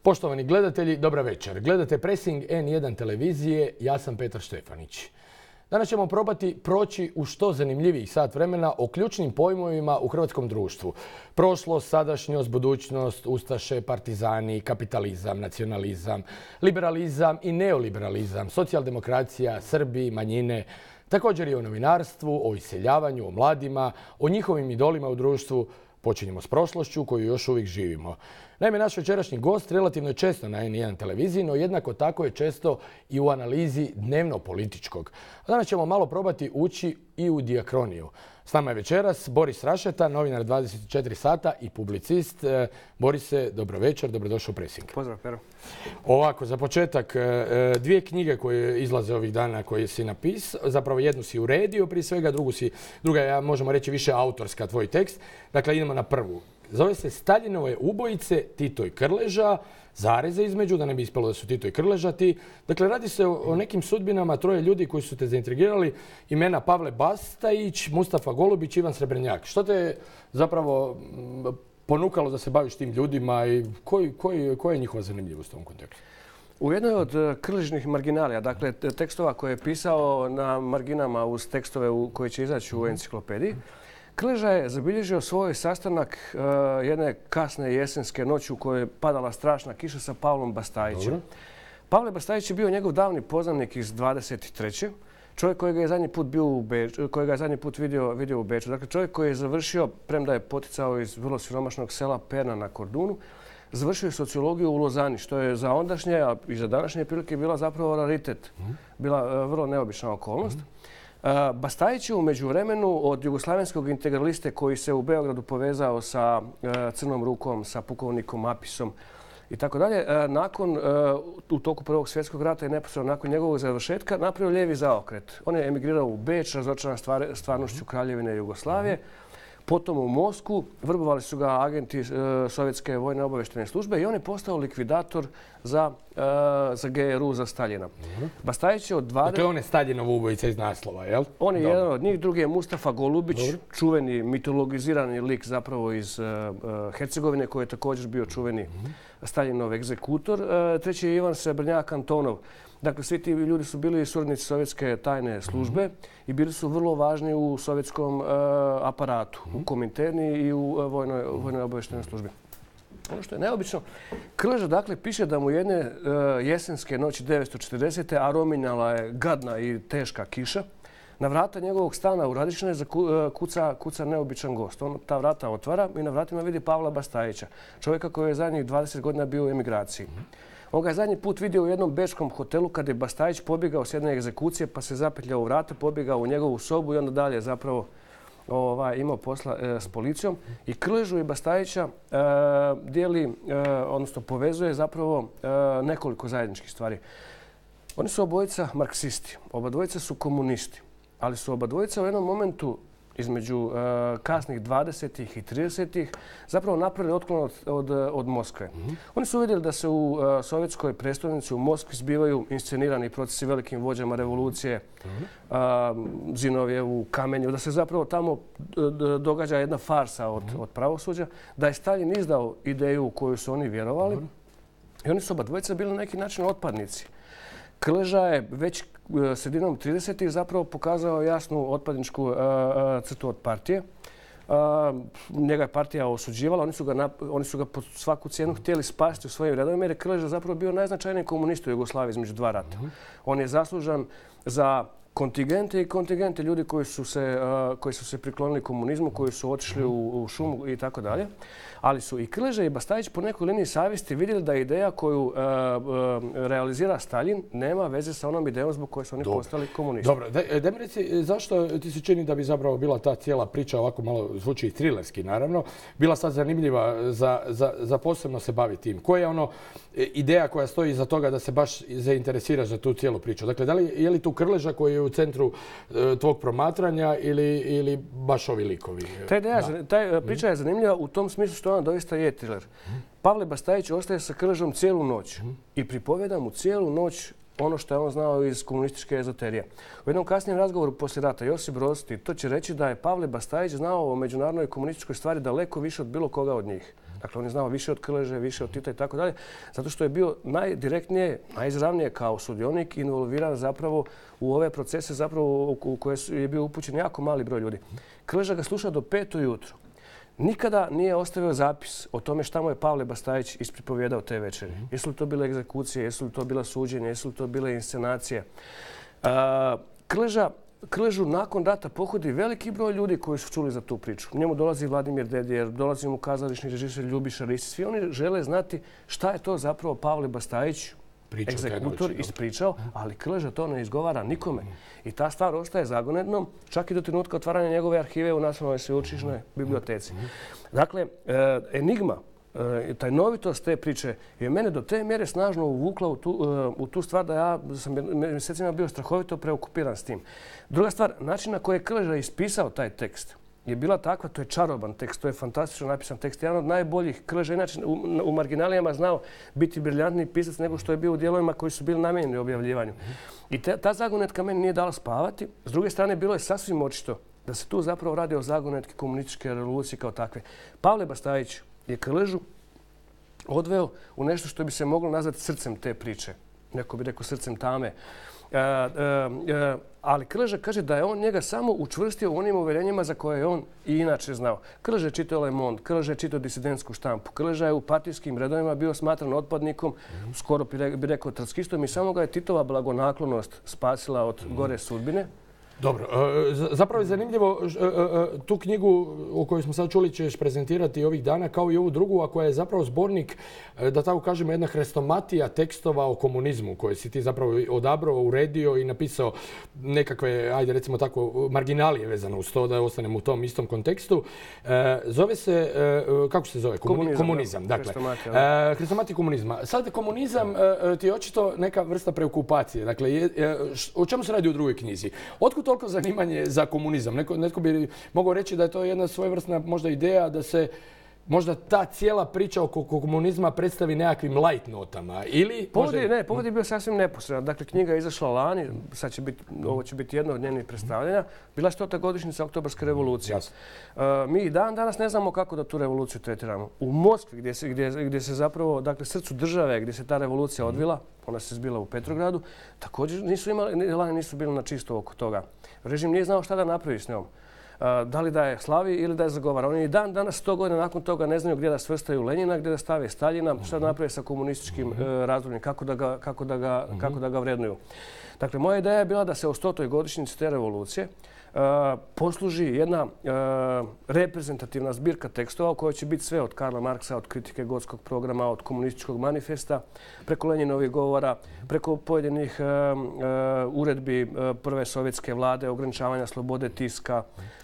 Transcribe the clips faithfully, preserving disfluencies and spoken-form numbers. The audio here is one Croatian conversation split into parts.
Poštovani gledatelji, dobra večer. Gledate Pressing en jedan televizije, ja sam Petar Štefanić. Danas ćemo probati proći u što zanimljivijih sat vremena o ključnim pojmovima u hrvatskom društvu. Prošlost, sadašnjost, budućnost, ustaše, partizani, kapitalizam, nacionalizam, liberalizam i neoliberalizam, socijaldemokracija, Srbi, manjine, također i o novinarstvu, o iseljavanju, o mladima, o njihovim idolima u društvu. Počinjemo s prošlošću koju još uvijek živimo. Naime, naš večerašnji gost relativno je često na en jedan televiziji, no jednako tako je često i u analizi dnevno-političkog. Danas ćemo malo probati ući i u dijakroniju. S nama je večeras Boris Rašeta, novinar dvadeset četiri sata i publicist. Borise, dobro večer, dobrodošao u Pressing. Pozdrav, Pero. Ovako, za početak, dvije knjige koje izlaze ovih dana koje si napisao, zapravo jednu si uredio prije svega, drugu si, druga je, možemo reći, više autorska, tvoj tekst. Dakle, idemo na prvu. Zove se Staljinove ubojice, Tito i Krleža, zareze između, da ne bi ispalo da su Tito i Krleža ti. Dakle, radi se o nekim sudbinama troje ljudi koji su te zaintrigirali. Imena Pavle Bastajić, Mustafa Golubić, Ivan Srebrnjak. Što te zapravo ponukalo da se baviš tim ljudima i koji, koji, koja je njihova zanimljivost u ovom kontekstu? U jednoj od krležnih marginalija, dakle tekstova koje je pisao na marginama uz tekstove koji će izaći u enciklopediji, Krleža je zabilježio svoj sastanak uh, jedne kasne jesenske noći u kojoj je padala strašna kiša sa Pavlom Bastajićem. Dobro. Pavle Bastajić je bio njegov davni poznanik iz dvadeset treće Čovjek kojega je zadnji put bio u Beču, kojega je zadnji put vidio, vidio u Beču. Dakle, čovjek koji je završio, premda je poticao iz vrlo siromašnog sela Perna na Kordunu, završio je sociologiju u Lozani, što je za ondašnje, a i za današnje prilike bila zapravo raritet. Bila uh, vrlo neobična okolnost. Bastajić je u međuvremenu od jugoslavenskog integraliste koji se u Beogradu povezao sa Crnom Rukom, sa pukovnikom Apisom i tako dalje, nakon, u toku Prvog svjetskog rata i neposredno nakon njegovog završetka napravio lijevi zaokret. On je emigrirao u Beč, razočaran stvarnošću Kraljevine Jugoslavije, potom u Moskvu, vrbovali su ga agenti Sovjetske vojne obaveštene službe i on je postao likvidator za, za G R U, za Staljina. Bastajić je od dvadeset... Dakle, on je Staljinov ubojica iz naslova, jel? On je Dobre. jedan od njih, drugi je Mustafa Golubić, Dobre. čuveni mitologizirani lik zapravo iz uh, Hercegovine, koji je također bio čuveni mm-hmm. Staljinov egzekutor. Uh, treći je Ivan Srebrnjak Antonov. Dakle, svi ti ljudi su bili suradnici sovjetske tajne službe mm-hmm. i bili su vrlo važni u sovjetskom uh, aparatu, mm-hmm. u Kominterni i u uh, vojnoj, vojnoj obavještajnoj službi. Ono što je neobično, Krleža dakle piše da mu jedne uh, jesenske noći devetsto četrdesete a rominjala je gadna i teška kiša. Na vrata njegovog stana u Radične kuca, kuca neobičan gost. On ta vrata otvara i na vratima vidi Pavla Bastajića, čovjeka koji je zadnjih dvadeset godina bio u emigraciji. On ga je zadnji put vidio u jednom bečkom hotelu kad je Bastajić pobjegao s jedne egzekucije pa se zapetljao u vrata, pobjegao u njegovu sobu i onda dalje zapravo ovaj, imao posla e, s policijom. I Krležu i Bastajića e, dijeli, e, odnosno povezuje zapravo e, nekoliko zajedničkih stvari. Oni su obojica marksisti, oba dvojica su komunisti, ali su oba dvojica u jednom momentu između uh, kasnih dvadesetih i tridesetih zapravo napravili otklon od, od, od Moskve. Mm-hmm. Oni su vidjeli da se u uh, sovjetskoj prestolnici u Moskvi zbivaju inscenirani procesi velikim vođama revolucije, mm-hmm. uh, Zinovjevu, Kamenju, da se zapravo tamo događa jedna farsa od, mm-hmm. od pravosuđa, da je Staljin izdao ideju u koju su oni vjerovali mm-hmm. i oni su oba dvojica bili na neki način otpadnici. Krleža je već sredinom tridesetih zapravo pokazao jasnu otpadničku uh, uh, crtu od partije. Uh, njega je partija osuđivala, oni su ga, nap- oni su ga pod svaku cijenu htjeli spasiti u svojim redovima jer je Krleža zapravo bio najznačajniji komunist u Jugoslaviji između dva rata. Mm-hmm. On je zaslužan za kontingente i kontingente ljudi koji su se, uh, koji su se priklonili komunizmu, koji su otišli u, u šumu i tako dalje. Ali su i Krleža i Bastajić po nekoj liniji savjesti vidjeli da ideja koju uh, uh, realizira Staljin nema veze sa onom idejom zbog koje su oni Dobre. postali komunisti. Dobro, da mi reci, zašto ti se čini da bi zapravo bila ta cijela priča, ovako malo zvuči trilerski naravno, bila sad zanimljiva za, za, za posebno se baviti tim? Koja je ono ideja koja stoji iza toga da se baš zainteresiraš za tu cijelu priču? Dakle, da li, je li tu Krleža koji je u centru uh, tvog promatranja ili, ili baš ovi likovi? Ta, ideja, ta priča je zanimljiva u tom smislu što ona doista je thriller. Pavle Bastajić ostaje sa Krležom cijelu noć i pripovjeda mu cijelu noć ono što je on znao iz komunističke ezoterije. U jednom kasnijem razgovoru poslije rata Josip Broz Tito će reći da je Pavle Bastajić znao o međunarodnoj komunističkoj stvari daleko više od bilo koga od njih. Dakle, on je znao više od Krleže, više od Tita i tako dalje, zato što je bio najdirektnije, najizravnije kao sudionik involviran zapravo u ove procese zapravo u koje je bio upućen jako mali broj ljudi. Krleža ga sluša do pet ujutro. Nikada nije ostavio zapis o tome šta mu je Pavle Bastajić ispripovijedao te večeri. Jesu li to bile egzekucije, jesu li to bila suđenja, jesu li to bile inscenacije. Krleža Krležu nakon rata pohodi veliki broj ljudi koji su čuli za tu priču. Njemu dolazi Vladimir Dedijer, dolazi mu kazališni režiser Ljubiša Risić. Svi oni žele znati šta je to zapravo Pavle Bastajić, egzekutor, ispričao, ali Krleža to ne izgovara nikome. I ta stvar ostaje zagonetnom, čak i do trenutka otvaranja njegove arhive u Nacionalnoj sveučilišnoj biblioteci. Dakle, enigma, tajnovitost te priče je mene do te mjere snažno uvukla u tu, u tu stvar da ja sam mjesecima bio strahovito preokupiran s tim. Druga stvar, način na koji je Krleža ispisao taj tekst je bila takva, to je čaroban tekst, to je fantastično napisan tekst. Jedan od najboljih. Krleža inače u, u marginalijama znao biti briljantni pisac nego što je bio u dijelovima koji su bili namijenjeni objavljivanju. I te, ta zagonetka meni nije dala spavati. S druge strane, bilo je sasvim očito da se tu zapravo radi o zagonetki komunističke revolucije kao takve. Pavle Bastajić je Krležu odveo u nešto što bi se moglo nazvati srcem te priče. Neko bi rekao srcem tame. E, e, e, ali Krleža kaže da je on njega samo učvrstio u onim uvjerenjima za koje je on i inače znao. Krleža je čitao Le Monde, Krleža je čitao disidentsku štampu, Krleža je u partijskim redovima bio smatran otpadnikom, skoro bi rekao trotskistom i samo ga je Titova blagonaklonost spasila od gore sudbine. Dobro, zapravo je zanimljivo tu knjigu o kojoj smo sad čuli ćeš prezentirati ovih dana kao i ovu drugu, a koja je zapravo zbornik, da tako kažemo, jedna hrestomatija tekstova o komunizmu koje si ti zapravo odabrao, uredio i napisao nekakve, ajde recimo tako, marginalije vezano uz to da ostanemo u tom istom kontekstu. Zove se, kako se zove? Komunizam. Komunizam, dakle. Hrestomatija komunizma. Sad komunizam ti je očito neka vrsta preokupacije. Dakle, o čemu se radi u drugoj knjizi? Otkud toliko zanimanje za komunizam? Neko, netko bi mogao reći da je to jedna svojevrsna možda ideja da se možda ta cijela priča oko komunizma predstavi nekakvim light notama ili... Povod je, ne, povod je bio sasvim neposredan. Dakle, knjiga je izašla lani, sad će biti, ovo će biti jedno od njenih predstavljanja. Bila je stota godišnjica Oktobarske revolucije. Uh, mi i dan danas ne znamo kako da tu revoluciju tretiramo. U Moskvi, gdje se, gdje, gdje se zapravo, dakle, srcu države, gdje se ta revolucija odvila, ona se zbila u Petrogradu, također nisu imali, lani nisu bili na čisto oko toga. Režim nije znao šta da napravi s njom. Da li da je slavi ili da je zagovara. Oni i dan danas sto godina nakon toga ne znaju gdje da svrstaju Lenjina, gdje da stave Staljina, šta da naprave sa komunističkim uh, razdobljem, kako da ga, kako da ga, uh-huh. kako da ga vrednuju. Dakle, moja ideja je bila da se o stotoj godišnjici te revolucije uh, posluži jedna uh, reprezentativna zbirka tekstova u kojoj će biti sve od Karla Marksa, od kritike Gotskog programa, od komunističkog manifesta, preko Lenjinovih govora, preko pojedinih uh, uh, uredbi uh, prve sovjetske vlade, ograničavanja slobode tiska,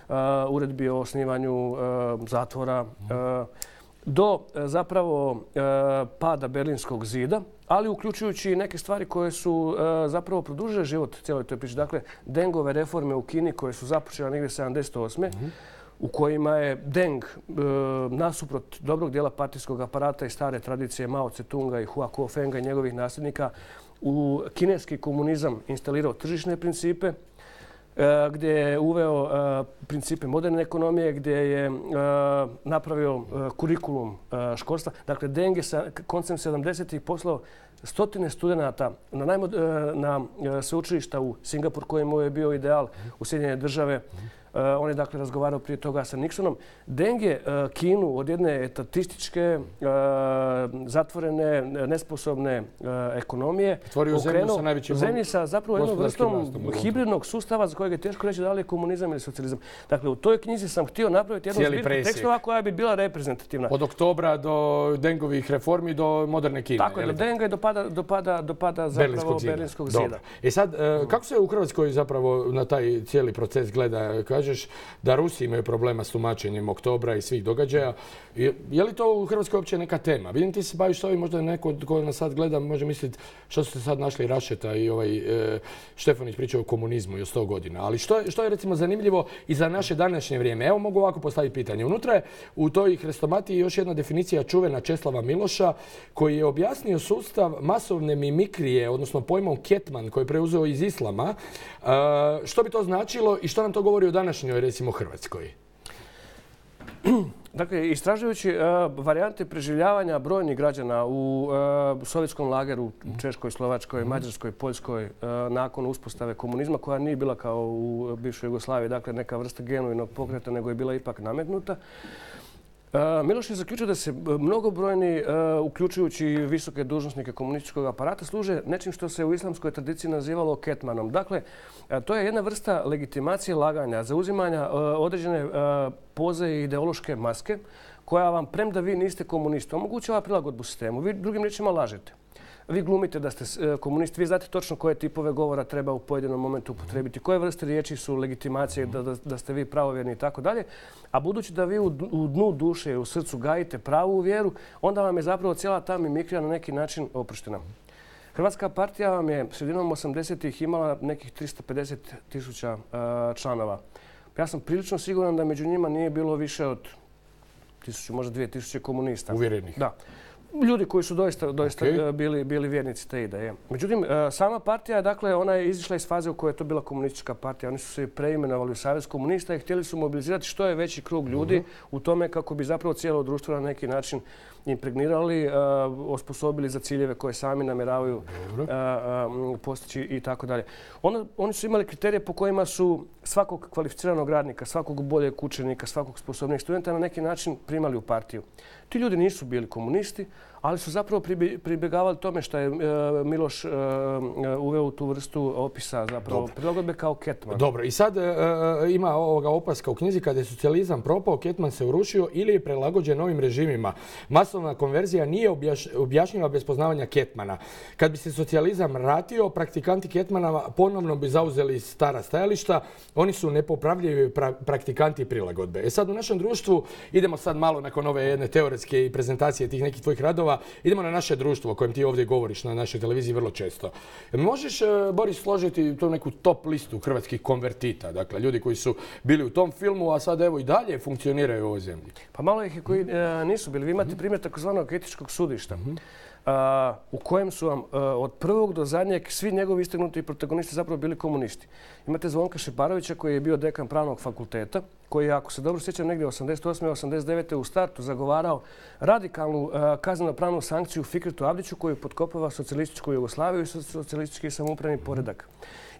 Uh, uredbi o osnivanju uh, zatvora, uh, do uh, zapravo uh, pada Berlinskog zida, ali uključujući neke stvari koje su uh, zapravo produžile život cijeloj toj priči. Dakle, Dengove reforme u Kini koje su započele negdje sedamdeset osme Mm-hmm. u kojima je Deng uh, nasuprot dobrog dijela partijskog aparata i stare tradicije Mao Tse-tunga i Hua Kuofenga i njegovih nasljednika u kineski komunizam instalirao tržišne principe, gdje je uveo uh, principe moderne ekonomije, gdje je uh, napravio uh, kurikulum uh, školstva. Dakle, Deng je sa koncem sedamdesetih poslao stotine studenata na, najmod, uh, na uh, sveučilišta u Singapur, kojemu je bio ideal, u Sjedinjene države. Uh, on je dakle razgovarao prije toga sa Nixonom. Deng je uh, Kinu od jedne etatističke, uh, zatvorene, nesposobne uh, ekonomije otvorio zemlju sa najvećim zemlji sa zapravo jednom vrstom hibridnog sustava za kojeg je teško reći da li je komunizam ili socijalizam. Dakle, u toj knjizi sam htio napraviti jednu zbirku tekstova koja bi bila reprezentativna. Od oktobra do Dengovih reformi do moderne Kine. Tako je, do Denga i do pada, do pada, do pada zapravo Berlinskog zida. Berlinskog zida. E sad, uh, kako se u Hrvatskoj zapravo na taj cijeli proces gleda? Kažeš da Rusi imaju problema s tumačenjem oktobra i svih događaja. Je, je li to u Hrvatskoj uopće neka tema? Vidim ti se baviš ovim, možda neko ko nas sad gleda može misliti što su se sad našli Rašeta i ovaj e, Štefanić pričao o komunizmu i o sto godina. Ali što je, što je recimo zanimljivo i za naše današnje vrijeme? Evo mogu ovako postaviti pitanje. Unutra je u toj hrestomatiji još jedna definicija čuvena Česlava Miloša koji je objasnio sustav masovne mimikrije, odnosno pojmom ketman koji je preuzeo iz islama. E, što bi to značilo i što nam to govori o današnjoj, recimo, Hrvatskoj? Dakle, istražujući uh, varijante preživljavanja brojnih građana u uh, sovjetskom lageru, u Češkoj, Slovačkoj, Mađarskoj, Poljskoj, uh, nakon uspostave komunizma, koja nije bila kao u bivšoj Jugoslaviji, dakle neka vrsta genuinog pokreta, nego je bila ipak nametnuta. Uh, Miloš je zaključio da se mnogobrojni, uh, uključujući visoke dužnosnike komunističkog aparata, služe nečim što se u islamskoj tradiciji nazivalo ketmanom. Dakle, uh, to je jedna vrsta legitimacije laganja, zauzimanja uh, određene uh, poze i ideološke maske, koja vam, premda vi niste komunisti, omogućava prilagodbu sistemu. Vi drugim riječima lažete. Vi glumite da ste komunisti, vi znate točno koje tipove govora treba u pojedinom momentu upotrebiti, koje vrste riječi su legitimacije da, da, da ste vi pravovjerni i tako dalje. A budući da vi u, u dnu duše, u srcu gajite pravu vjeru, onda vam je zapravo cijela ta mimikrija na neki način oproštena. Hrvatska partija vam je sredinom osamdesetih imala nekih tristo pedeset tisuća uh, članova. Ja sam prilično siguran da među njima nije bilo više od tisuću, možda dvije tisuće komunista. Uvjerenih. Da. Ljudi koji su doista, doista okay. bili, bili vjernici te ideje. Međutim, sama partija, dakle, ona je izišla iz faze u kojoj je to bila komunistička partija. Oni su se preimenovali u Savez komunista i htjeli su mobilizirati što je veći krug ljudi uh-huh. u tome kako bi zapravo cijelo društvo na neki način impregnirali, uh, osposobili za ciljeve koje sami namjeravaju uh, uh, postići i tako dalje. Ono, oni su imali kriterije po kojima su svakog kvalificiranog radnika, svakog boljeg učenika, svakog sposobnijeg studenta na neki način primali u partiju. Ti ljudi nisu bili komunisti, ali su zapravo pribjegavali tome što je uh, Miloš uh, uveo u tu vrstu opisa zapravo prilagodbe kao ketman. Dobro, i sad uh, ima ovoga opaska u knjizi: kada je socijalizam propao, ketman se urušio ili je prilagođen novim režimima. Masovna konverzija nije objaš, objašnjiva bez poznavanja ketmana. Kad bi se socijalizam vratio, praktikanti ketmana ponovno bi zauzeli stara stajališta. Oni su nepopravljivi pra, praktikanti prilagodbe. E sad u našem društvu, idemo sad malo nakon ove jedne teoretske i prezentacije tih nekih tvojih radova, idemo na naše društvo o kojem ti ovdje govoriš na našoj televiziji vrlo često. Možeš, Boris, složiti tu neku top listu hrvatskih konvertita? Dakle, ljudi koji su bili u tom filmu, a sad evo i dalje funkcioniraju u ovoj zemlji. Pa malo ih koji e, nisu bili. Vi imate primjer takozvanog etičkog sudišta. Mm-hmm. Uh, u kojem su vam uh, od prvog do zadnjeg svi njegovi istaknuti protagonisti zapravo bili komunisti. Imate Zvonka Šeparovića koji je bio dekan pravnog fakulteta, koji je, ako se dobro sjećam, negdje osamdeset osme osamdeset devete u startu zagovarao radikalnu uh, kazneno-pravnu sankciju Fikretu Abdiću koji potkopava socijalističku Jugoslaviju i socijalistički samoupravni poredak.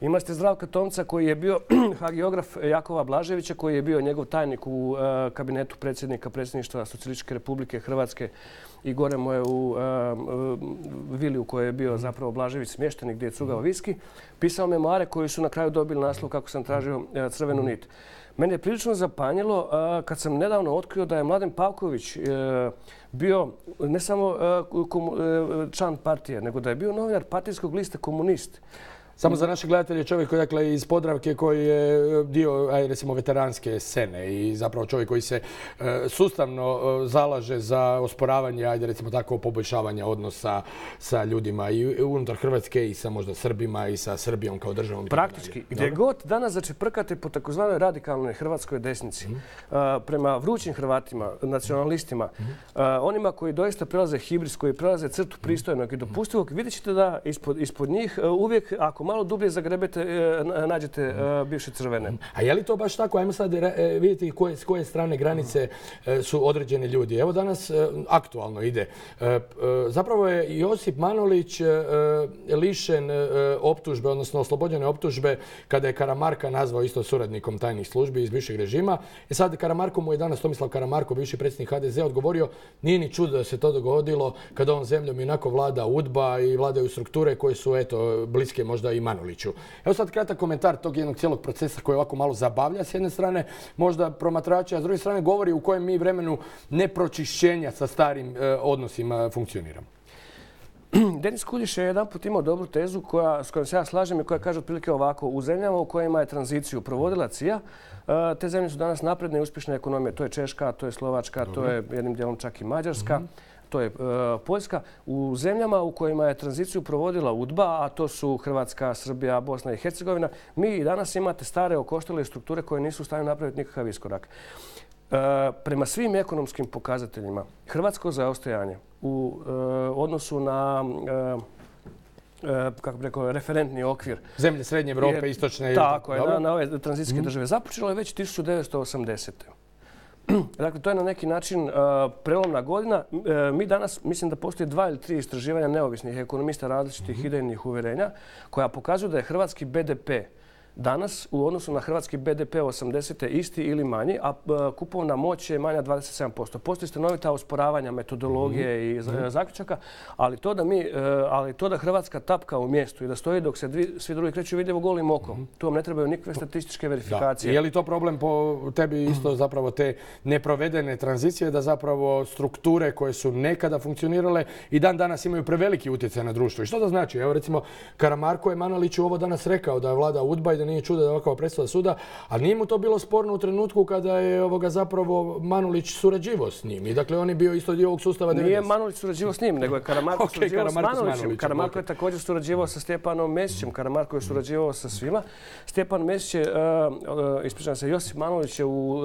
Imate Zdravka Tomca koji je bio hagiograf Jakova Blaževića, koji je bio njegov tajnik u uh, kabinetu predsjednika predsjedništva Socijalističke Republike Hrvatske i gore mu je u uh, uh, vili u kojoj je bio zapravo Blažević smješten, gdje je cugao viski, pisao memoare koji su na kraju dobili naslov kako sam tražio uh, Crvenu nit. Mene je prilično zapanjilo uh, kad sam nedavno otkrio da je Mladen Pavković uh, bio ne samo uh, komu, uh, član partije, nego da je bio novinar partijskog lista Komunist. Samo za naše gledatelje čovjek koji, dakle, iz Podravke koji je dio, aj, recimo, veteranske scene i zapravo čovjek koji se e, sustavno e, zalaže za osporavanje, ajde recimo tako, poboljšavanja odnosa sa ljudima i unutar Hrvatske i sa možda Srbima i sa Srbijom kao državom. Praktički, gdje god danas začeprkate po takozvanoj radikalnoj hrvatskoj desnici, mm. a, prema vrućim Hrvatima, nacionalistima, mm. a, onima koji doista prelaze hibris, koji prelaze crtu pristojnog i dopustivog, vidjet ćete da ispod, ispod njih a, uvijek, ako malo dublje zagrebete, nađete bivše crvene. A je li to baš tako? Ajmo sad vidjeti koje, s koje strane granice su određeni ljudi. Evo danas aktualno ide. Zapravo je Josip Manolić lišen optužbe, odnosno oslobođene optužbe kada je Karamarka nazvao isto suradnikom tajnih službi iz bivšeg režima. I sad Karamarko mu je danas, Tomislav Karamarko, bivši predsjednik ha de ze, odgovorio: nije ni čudo da se to dogodilo kada ovom zemljom inako vlada udba i vladaju strukture koje su, eto, bliske možda i Manoliću. Evo sad kratak komentar tog jednog cijelog procesa koji ovako malo zabavlja s jedne strane možda promatrača, a s druge strane govori u kojem mi vremenu nepročišćenja sa starim e, odnosima funkcioniramo. Denis Kuljiš je jedan put imao dobru tezu koja, s kojom se ja slažem i koja kaže otprilike ovako: u zemljama u kojima je tranziciju provodila C I A, te zemlje su danas napredne i uspješne ekonomije. To je Češka, to je Slovačka, Dobre. To je jednim dijelom čak i Mađarska. Mm-hmm. To je e, Poljska. U zemljama u kojima je tranziciju provodila udba, a to su Hrvatska, Srbija, Bosna i Hercegovina, mi i danas imate stare okoštale strukture koje nisu u stanju napraviti nikakav iskorak. E, prema svim ekonomskim pokazateljima, hrvatsko zaostajanje u e, odnosu na e, kako bi rekao, referentni okvir. Zemlje Srednje Evrope, Istočne... Tako je, na, na ove tranzicijske mm. države. Započelo je već tisuću devetsto osamdesete. Dakle, to je na neki način uh, prelomna godina. Uh, mi danas, mislim da postoji dva ili tri istraživanja neovisnih ekonomista različitih mm-hmm. idejnih uvjerenja koja pokazuju da je hrvatski B D P danas u odnosu na hrvatski B D P osamdesete isti ili manji, a kupovna moć je manja dvadeset sedam posto. Postoji stanovita usporavanja metodologije mm-hmm. i zaključaka, ali to, da mi, ali to da Hrvatska tapka u mjestu i da stoji dok se dvi, svi drugi kreću vidljivo golim okom, mm-hmm. tu vam ne trebaju nikakve statističke verifikacije. Da. Je li to problem po tebi isto zapravo te neprovedene tranzicije, da zapravo strukture koje su nekada funkcionirale i dan danas imaju preveliki utjecaj na društvo? I što to znači? Evo recimo Karamarko je Manoliću ovo danas rekao da je vlada udba i da nije čudo da je ovakva presuda suda, ali nije mu to bilo sporno u trenutku kada je ovoga zapravo Manulić surađivao s njim. I dakle on je bio isto dio ovog sustava devedesetih. Nije Manulić surađivao s njim, nego je Karamarko okay, surađivao Karamarko s Manulićem. Karamarko je također surađivao sa Stjepanom Mesićem. Karamarko je surađivao sa svima. Stjepan Mesić je, uh, uh, ispričavam se, Josip Manolić je u uh,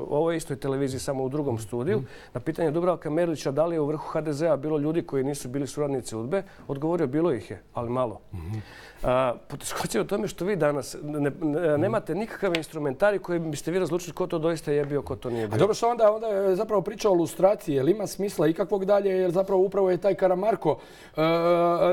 ovoj istoj televiziji, samo u drugom studiju. Mm. Na pitanje Dubravka Merlića da li je u vrhu H D Z-a bilo ljudi koji nisu bili suradnici udbe, odgovorio bilo ih je, ali malo. Mm-hmm. Uh, poteškoća je u tome što vi danas ne, ne, nemate nikakav instrumentarij koji biste vi razlučili ko to doista je bio, ko to nije bio. A dobro, što onda, onda je zapravo priča o lustraciji, jer ima smisla ikakvog dalje, jer zapravo upravo je taj Karamarko uh,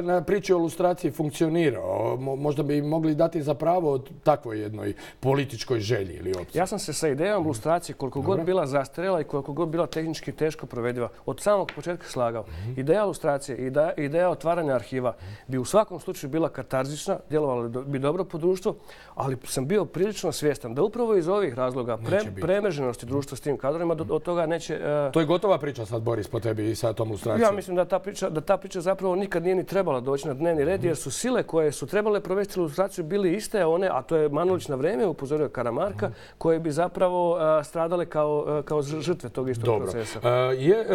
na priči o lustraciji funkcionirao. Mo, možda bi mogli dati za pravo takvoj jednoj političkoj želji ili opciji. Ja sam se sa idejom lustracije, koliko Dobre. god bila zastarjela i koliko god bila tehnički teško provediva, od samog početka slagao. Mm-hmm. Ideja lustracije, ideja, ideja otvaranja arhiva bi u svakom slučaju bila katarzična, djelovala bi dobro po društvu, ali sam bio prilično svjestan da upravo iz ovih razloga pre, premreženosti društva s tim kadrovima do, od toga neće... Uh... To je gotova priča sad, Boris, po tebi i sa tom lustracijom. Ja mislim da ta, priča, da ta priča zapravo nikad nije ni trebala doći na dnevni red, jer su sile koje su trebale provesti lustraciju bili iste one, a to je Manolić na vrijeme upozorio Karamarka, koje bi zapravo uh, stradale kao, uh, kao žrtve tog istog Dobro. procesa. Uh, je,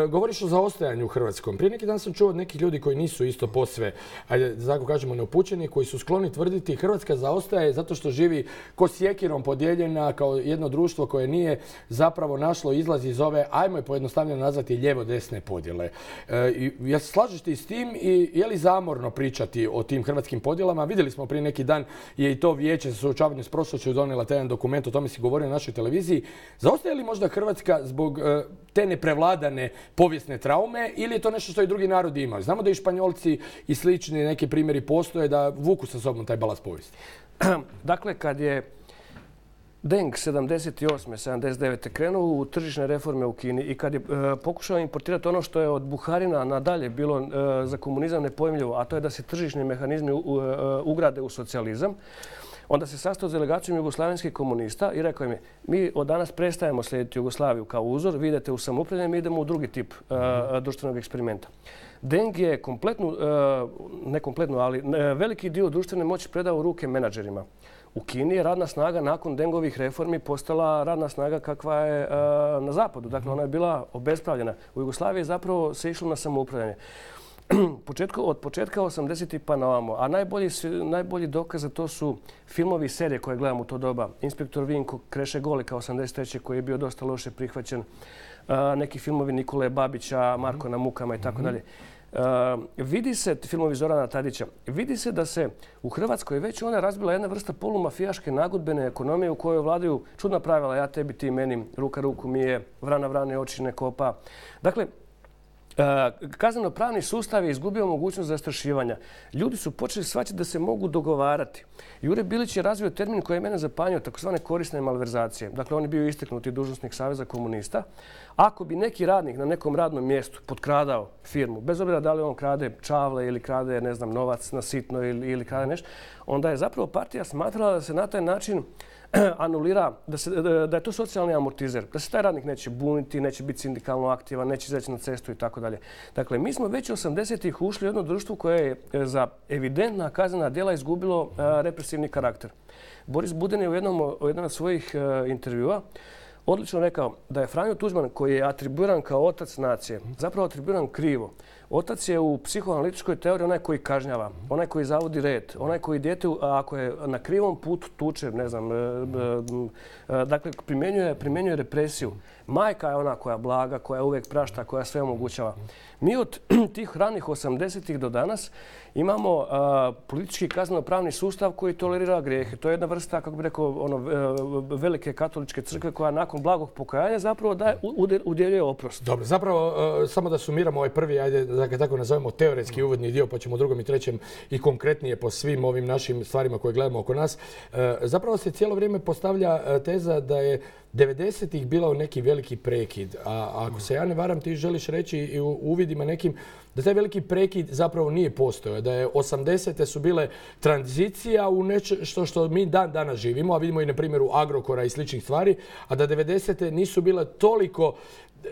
uh, govoriš o zaostajanju u Hrvatskom. Prije neki dan sam čuo od nekih ljudi koji nisu isto posve, ajde, tako kažemo, neupućeni, koji su skloni tvrditi Hrvatska zaostaje zato što živi ko sjekirom podijeljena kao jedno društvo koje nije zapravo našlo izlaz iz ove, ajmo je pojednostavljeno nazvati, lijevo-desne podjele. E, ja se slažeš ti s tim i je li zamorno pričati o tim hrvatskim podjelama? Vidjeli smo prije neki dan je i to vijeće za suočavanje s prošlošću donijela taj jedan dokument, o tome si govorio na našoj televiziji. Zaostaje li možda Hrvatska zbog e, te neprevladane povijesne traume ili je to nešto što i drugi narodi imaju? Znamo da i Španjolci i slični neki primjeri postoje da vuku sa sobom taj balast povijesti. Dakle, kad je Deng sedamdeset osme sedamdeset devete krenuo u tržišne reforme u Kini i kad je e, pokušao importirati ono što je od Buharina nadalje bilo e, za komunizam nepojmljivo, a to je da se tržišni mehanizmi u, u, ugrade u socijalizam, onda se sastao s delegacijom jugoslavenskih komunista i rekao im je, mi od danas prestajemo slijediti Jugoslaviju kao uzor, vi idete u samoupravljanje, mi idemo u drugi tip uh, društvenog eksperimenta. Deng je kompletnu, uh, ne kompletnu, ali uh, veliki dio društvene moći predao u ruke menadžerima. U Kini je radna snaga nakon Dengovih reformi postala radna snaga kakva je uh, na zapadu. Dakle, ona je bila obespravljena. U Jugoslaviji je zapravo se išlo na samoupravljanje. Početko, od početka osamdesetih pa na ovamo. A najbolji, najbolji dokaz za to su filmovi i serije koje gledam u to doba. Inspektor Vinko, Kreše Golika osamdeset treće koji je bio dosta loše prihvaćen. Uh, neki filmovi Nikole Babića, Marko na mukama i tako dalje. Uh, vidi se, filmovi Zorana Tadića, vidi se da se u Hrvatskoj već ona razbila jedna vrsta polumafijaške nagodbene ekonomije u kojoj vladaju čudna pravila, ja tebi, ti meni, ruka ruku mije, vrana vrane oči ne kopa. Dakle, kazneno-pravni sustav je izgubio mogućnost zastrašivanja. Ljudi su počeli shvaćati da se mogu dogovarati. Jure Bilić je razvio termin koji je mene zapanjio, takozvane korisne malverzacije. Dakle, on je bio istaknuti dužnosnik Saveza komunista. Ako bi neki radnik na nekom radnom mjestu potkradao firmu, bez obzira da li on krade čavle ili krade, ne znam, novac na sitno ili, ili krade nešto, onda je zapravo partija smatrala da se na taj način anulira, da, se, da je to socijalni amortizer, da se taj radnik neće buniti, neće biti sindikalno aktivan, neće izaći na cestu i tako dalje. Dakle, mi smo već osamdesetih ušli u jedno društvo koje je za evidentna kaznena djela izgubilo represivni karakter. Boris Buden je u jednom, u jednom od svojih intervjua odlično rekao da je Franjo Tuđman, koji je atribuiran kao otac nacije, zapravo atribuiran krivo. Otac je u psihoanalitičkoj teoriji onaj koji kažnjava, onaj koji zavodi red, onaj koji dijete, ako je na krivom putu, tuče, ne znam, dakle, primjenjuje, primjenjuje represiju. Majka je ona koja blaga, koja uvijek prašta, koja sve omogućava. Mi od tih ranih osamdesetih do danas imamo a, politički kazneno-pravni sustav koji tolerira grijehe. To je jedna vrsta, kako bih rekao, ono, velike katoličke crkve koja nakon blagog pokajanja zapravo daje, udjeljuje oprost. Dobro, zapravo uh, samo da sumiramo ovaj prvi, ajde da ga tako nazovemo, teoretski uvodni dio, pa ćemo u drugom i trećem i konkretnije po svim ovim našim stvarima koje gledamo oko nas. Uh, zapravo se cijelo vrijeme postavlja uh, teza da je devedesetih bilo neki veliki prekid, a ako se ja ne varam, ti želiš reći i u uvidima nekim da taj veliki prekid zapravo nije postojao, da je osamdesete su bile tranzicija u nešto što mi dan danas živimo, a vidimo i na primjeru Agrokora i sličnih stvari, a da devedesete nisu bile toliko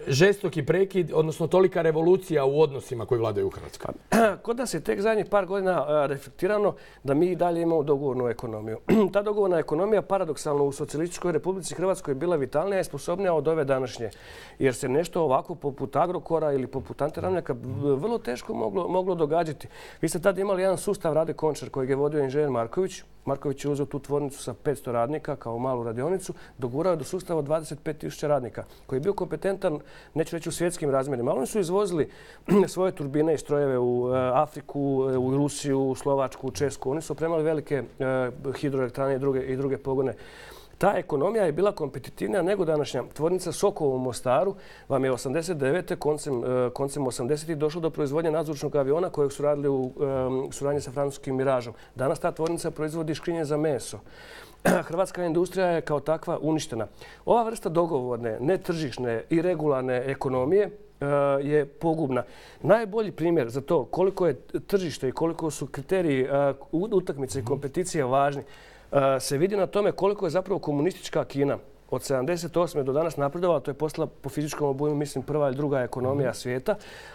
žestoki prekid, odnosno tolika revolucija u odnosima koji vladaju u Hrvatskoj. Kod nas je tek zadnjih par godina reflektirano da mi i dalje imamo dogovornu ekonomiju. Ta dogovorna ekonomija paradoksalno u Socijalističkoj Republici Hrvatskoj je bila vitalnija i sposobnija od ove današnje. Jer se nešto ovako poput Agrokora ili poput Ante Ramljaka vrlo teško moglo, moglo događati. Vi ste tada imali jedan sustav Rade Končar kojeg je vodio inženjer Marković. Marković je uzeo tu tvornicu sa petsto radnika kao malu radionicu, dogurao je do sustava dvadeset pet tisuća radnika koji je bio kompetentan, neću reći u svjetskim razmjerima, ali oni su izvozili svoje turbine i strojeve u Afriku, u Rusiju, u Slovačku, u Česku. Oni su opremali velike hidroelektrane i druge, i druge pogone. Ta ekonomija je bila kompetitivnija nego današnja. Tvornica Sokovo u Mostaru vam je osamdeset devete koncem, koncem osamdesetih došlo do proizvodnje nadzvučnog aviona kojeg su radili u um, suradnji sa francuskim Miražom. Danas ta tvornica proizvodi škrinje za meso. Hrvatska industrija je kao takva uništena. Ova vrsta dogovorne, netržišne i regularne ekonomije je pogubna. Najbolji primjer za to koliko je tržište i koliko su kriteriji utakmice i kompeticije važni se vidi na tome koliko je zapravo komunistička Kina od sedamdeset osme do danas napredovala, to je postala po fizičkom obujmu, mislim, prva ili druga ekonomija svijeta,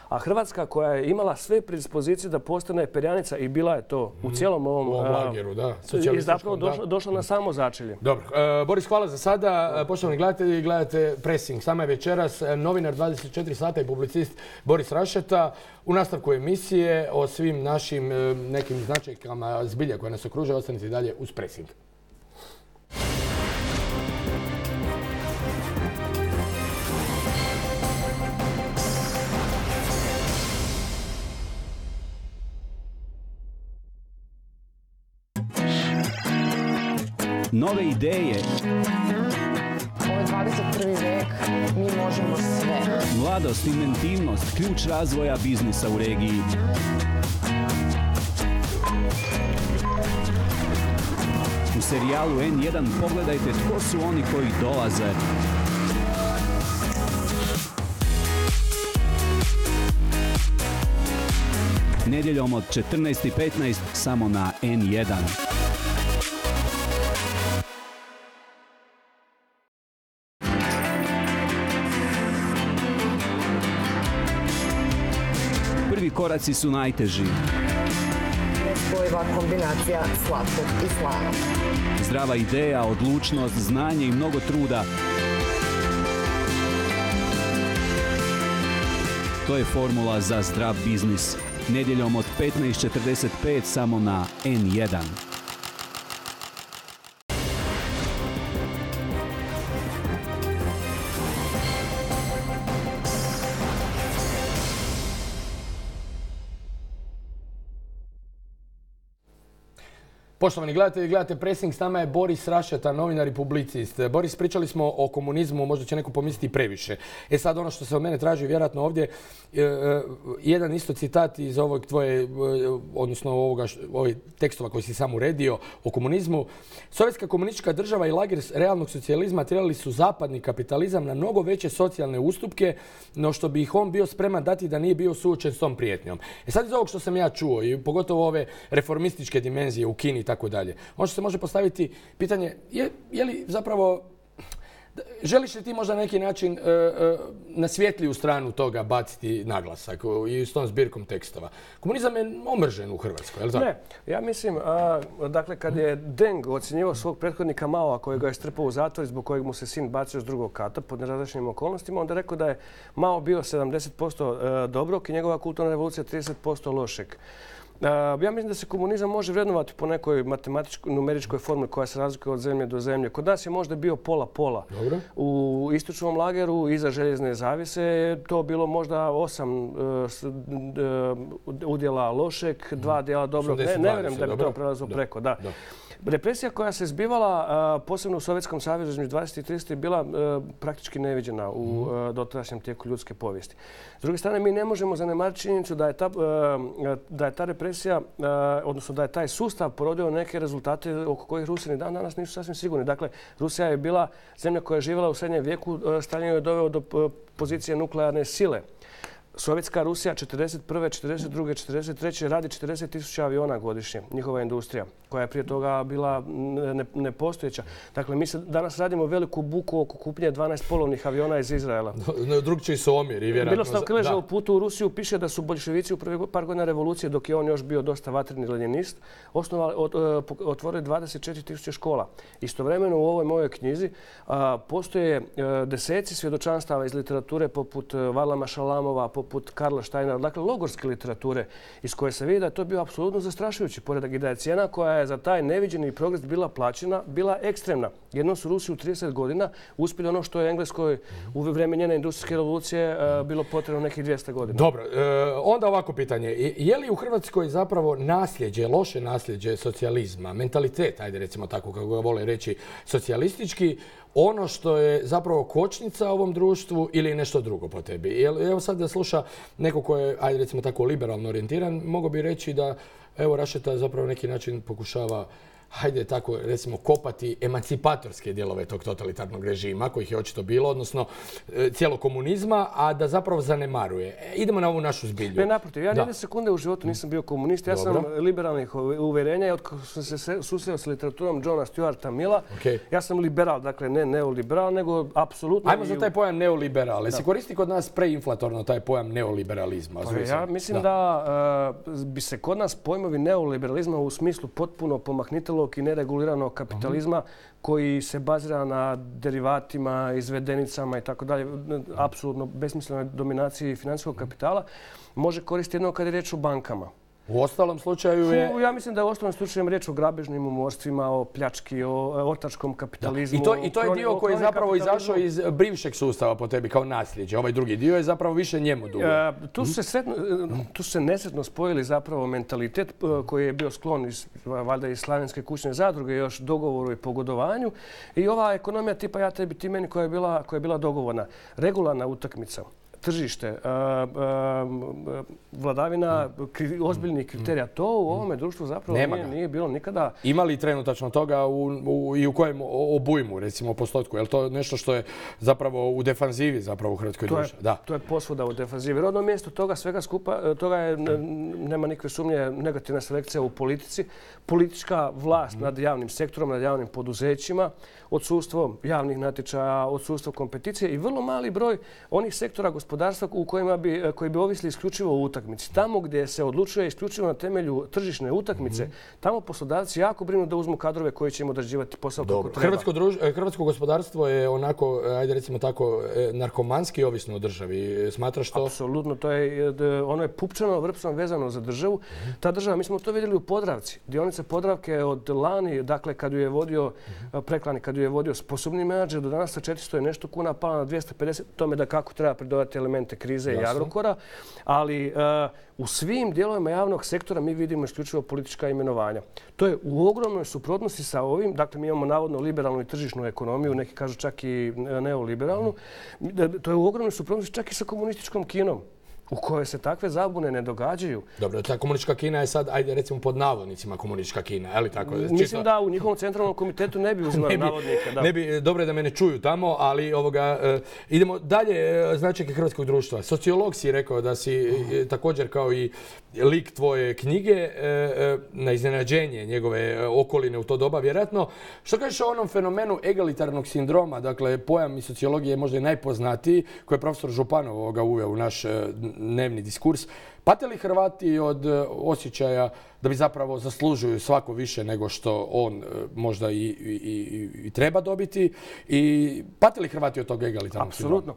a Hrvatska koja je imala sve predispozicije da postane perjanica i bila je to u cijelom ovom u ovom lageru, da, i zapravo došla, došla na samo začelje. Dobro. E, Boris, hvala za sada. Poštovani gledatelji, gledate Pressing. Sama je večeras novinar dvadeset četiri sata i publicist Boris Rašeta. U nastavku emisije o svim našim nekim značajkama zbilja koje nas okružuje, ostanite i dalje uz Pressing. Nove ideje. Ovo je dvadeset prvi vek, mi možemo sve. Mladost, inventivnost, ključ razvoja biznisa u regiji. U serijalu N jedan pogledajte tko su oni koji dolaze. Nedjeljom od četrnaest i petnaest samo na N jedan. Prvi koraci su najteži. Nespojiva kombinacija slatkog i slanog. Zdrava ideja, odlučnost, znanje i mnogo truda. To je formula za zdrav biznis. Nedjeljom od petnaest četrdeset pet samo na N jedan. Poštovani gledatelji, gledate Pressing, s nama je Boris Rašeta, novinar i publicist. Boris, pričali smo o komunizmu, možda će neko pomisliti previše. E sad ono što se od mene traži vjerojatno ovdje, jedan isto citat iz ovog tvoje, odnosno ovoga, ovih tekstova koji si sam uredio o komunizmu. Sovjetska komunistička država i lager realnog socijalizma tjerali su zapadni kapitalizam na mnogo veće socijalne ustupke, no što bi ih on bio spreman dati da nije bio suočen s tom prijetnjom. E sad iz ovog što sam ja čuo i pogotovo ove reformističke dimenzije u Kini i tako dalje, možda se može postaviti pitanje je, je li zapravo Želiš li ti možda na neki način e, e, na svjetliju stranu toga baciti naglasak i s tom zbirkom tekstova? Komunizam je omržen u Hrvatskoj, je li tako? Ne, ja mislim, a, dakle, kad je Deng ocjenjivao svog prethodnika Maoa kojega je strpao u zatvor zbog kojeg mu se sin bacio s drugog kata pod nerazličnim okolnostima, onda je rekao da je Mao bio sedamdeset posto dobrog i njegova kulturna revolucija trideset posto lošeg. Ja mislim da se komunizam može vrednovati po nekoj matematičkoj, numeričkoj formuli koja se razlikuje od zemlje do zemlje. Kod nas je možda bio pola-pola. U istočnom lageru iza željezne zavise je to bilo možda osam udjela lošeg, dva dijela dobrog. Ne, ne vjerujem da bi to prelazilo preko. Da. Represija koja se zbivala, posebno u Sovjetskom savezu između dvadeset i trideset je bila praktički neviđena u dotadašnjem tijeku ljudske povijesti. S druge strane, mi ne možemo zanemariti činjenicu da je ta, da je ta represija, odnosno da je taj sustav porodio neke rezultate oko kojih Rusi ni dan danas nisu sasvim sigurni. Dakle, Rusija je bila zemlja koja je živjela u srednjem vijeku, Stalin je doveo do pozicije nuklearne sile. Sovjetska Rusija četrdeset prve, četrdeset druge, četrdeset treće radi četrdeset tisuća aviona godišnje, njihova industrija, koja je prije toga bila nepostojeća. Dakle, mi se danas radimo veliku buku oko kupnje dvanaest polovnih aviona iz Izraela. Drugčiji su omjeri, vjerojatno. Miroslav Krleža u putu u Rusiju piše da su boljševici u prvih par godina revolucije, dok je on još bio dosta vatreni lenjinist, otvorili dvadeset četiri tisuće škola. Istovremeno u ovoj mojoj knjizi postoje deseci svjedočanstava iz literature poput Varlama Šalamova, poput Karla Steinera, dakle logorske literature iz koje se vidi da je to bio apsolutno zastrašujući poredak i da je cijena koja je za taj neviđeni progres bila plaćena, bila ekstremna. Jednom su Rusi u trideset godina uspjeli ono što je Engleskoj u vrijeme njene industrijske revolucije bilo potrebno nekih dvjesto godina. Dobro, onda ovako pitanje. Je li u Hrvatskoj zapravo nasljeđe, loše nasljeđe socijalizma, mentalitet, ajde recimo tako kako ga vole reći, socijalistički, ono što je zapravo kočnica ovom društvu ili nešto drugo po tebi? Evo sad da sluša neko ko je, ajde recimo tako, liberalno orijentiran, mogu bi reći da evo Rašeta zapravo neki način pokušava, hajde tako recimo, kopati emancipatorske dijelove tog totalitarnog režima, kojih je očito bilo, odnosno cijelog komunizma, a da zapravo zanemaruje. Idemo na ovu našu zbilju. Ne, naprotiv. Ja nijedne sekunde u životu nisam bio komunist. Ja sam liberalnih uvjerenja i od kako sam se susreo s literaturom Johna Stuarta Milla, ja sam liberal, dakle ne neoliberal, nego apsolutno... Ajmo za taj pojam neoliberal. Jesi koristi kod nas preinflatorno taj pojam neoliberalizma? Ja mislim da bi se kod nas pojmovi neoliberalizma u smislu potpuno pomahnitelog i nereguliranog kapitalizma koji se bazira na derivatima, izvedenicama i tako dalje, apsolutno besmislenoj dominaciji financijskog kapitala, može koristiti jedno kad je riječ o bankama. U ostalom slučaju je... Ja mislim da je u ostalom slučaju riječ o grabežnim umorstvima, o pljački, o ortačkom kapitalizmu. I to, i to je dio koji je zapravo izašao iz bivšeg sustava po tebi kao nasljeđe. Ovaj drugi dio je zapravo više njemu dugo. E, tu, su se sretno, tu su se nesretno spojili zapravo mentalitet koji je bio sklon iz, valjda iz slavenske kućne zadruge, još dogovoru i pogodovanju. I ova ekonomija tipa ja tebi ti meni koja je bila, koja je bila dogovorna. Regularna utakmica. Tržište, vladavina ozbiljnih kriterija. To u ovome društvu zapravo nije, nije bilo nikada. Ima li trenutačno toga u, u, i u kojem obujmu, recimo postotku? Je li to nešto što je zapravo u defanzivi zapravo u Hrvatskoj društvu? Da. To je posvuda u defanzivi. Rodno mjesto toga svega skupa, toga je, nema nikakve sumnje, negativna selekcija u politici. Politička vlast mm. nad javnim sektorom, nad javnim poduzećima, odsustvo javnih natječaja, odsustvo kompeticije i vrlo mali broj onih sektora gospodarstva u kojima bi, koji bi ovisili isključivo o utakmici. Tamo gdje se odlučuje isključivo na temelju tržišne utakmice, mm-hmm. tamo poslodavci jako brinu da uzmu kadrove koji će im odrađivati posao kako treba. Hrvatsko, druž, hrvatsko gospodarstvo je onako, ajde recimo tako, narkomanski ovisno o državi. Smatraš to? Apsolutno. To je, ono je pupčano, vrpsom vezano za državu. Mm-hmm. Ta država, mi smo to vidjeli u Podravci. Dionica Podravke od lani, dakle kad ju je vodio, mm-hmm. preklani, kad ju je vodio sposobni menadžer, do danas sa četiristo je nešto kuna pala na dvjesto pedeset. Tome da kako treba pridodati elemente krize Jasno. i Agrokora, ali uh, u svim dijelovima javnog sektora mi vidimo isključivo politička imenovanja. To je u ogromnoj suprotnosti sa ovim, dakle mi imamo navodno liberalnu i tržišnu ekonomiju, neki kažu čak i neoliberalnu, to je u ogromnoj suprotnosti čak i sa komunističkom Kinom, u kojoj se takve zabune ne događaju. Dobro, ta komunistička Kina je sad, ajde recimo pod navodnicima komunistička Kina, je li tako? Mislim Čisto... da u njihovom centralnom komitetu ne bi uzimali navodnike. Da. Ne bi, dobro je da me ne čuju tamo, ali ovoga, e, idemo dalje, značajke hrvatskog društva. Sociolog si rekao da si e, također kao i lik tvoje knjige e, e, na iznenađenje njegove okoline u to doba, vjerojatno. Što kažeš o onom fenomenu egalitarnog sindroma, dakle pojam iz sociologije je možda i najpoznatiji, koji je profesor Županov ovoga uveo u naš dnevni diskurs. Pate li Hrvati od osjećaja da bi zapravo zaslužuju svako više nego što on možda i, i, i, i treba dobiti? I pate li Hrvati od tog egalitarnog sindroma? Apsolutno.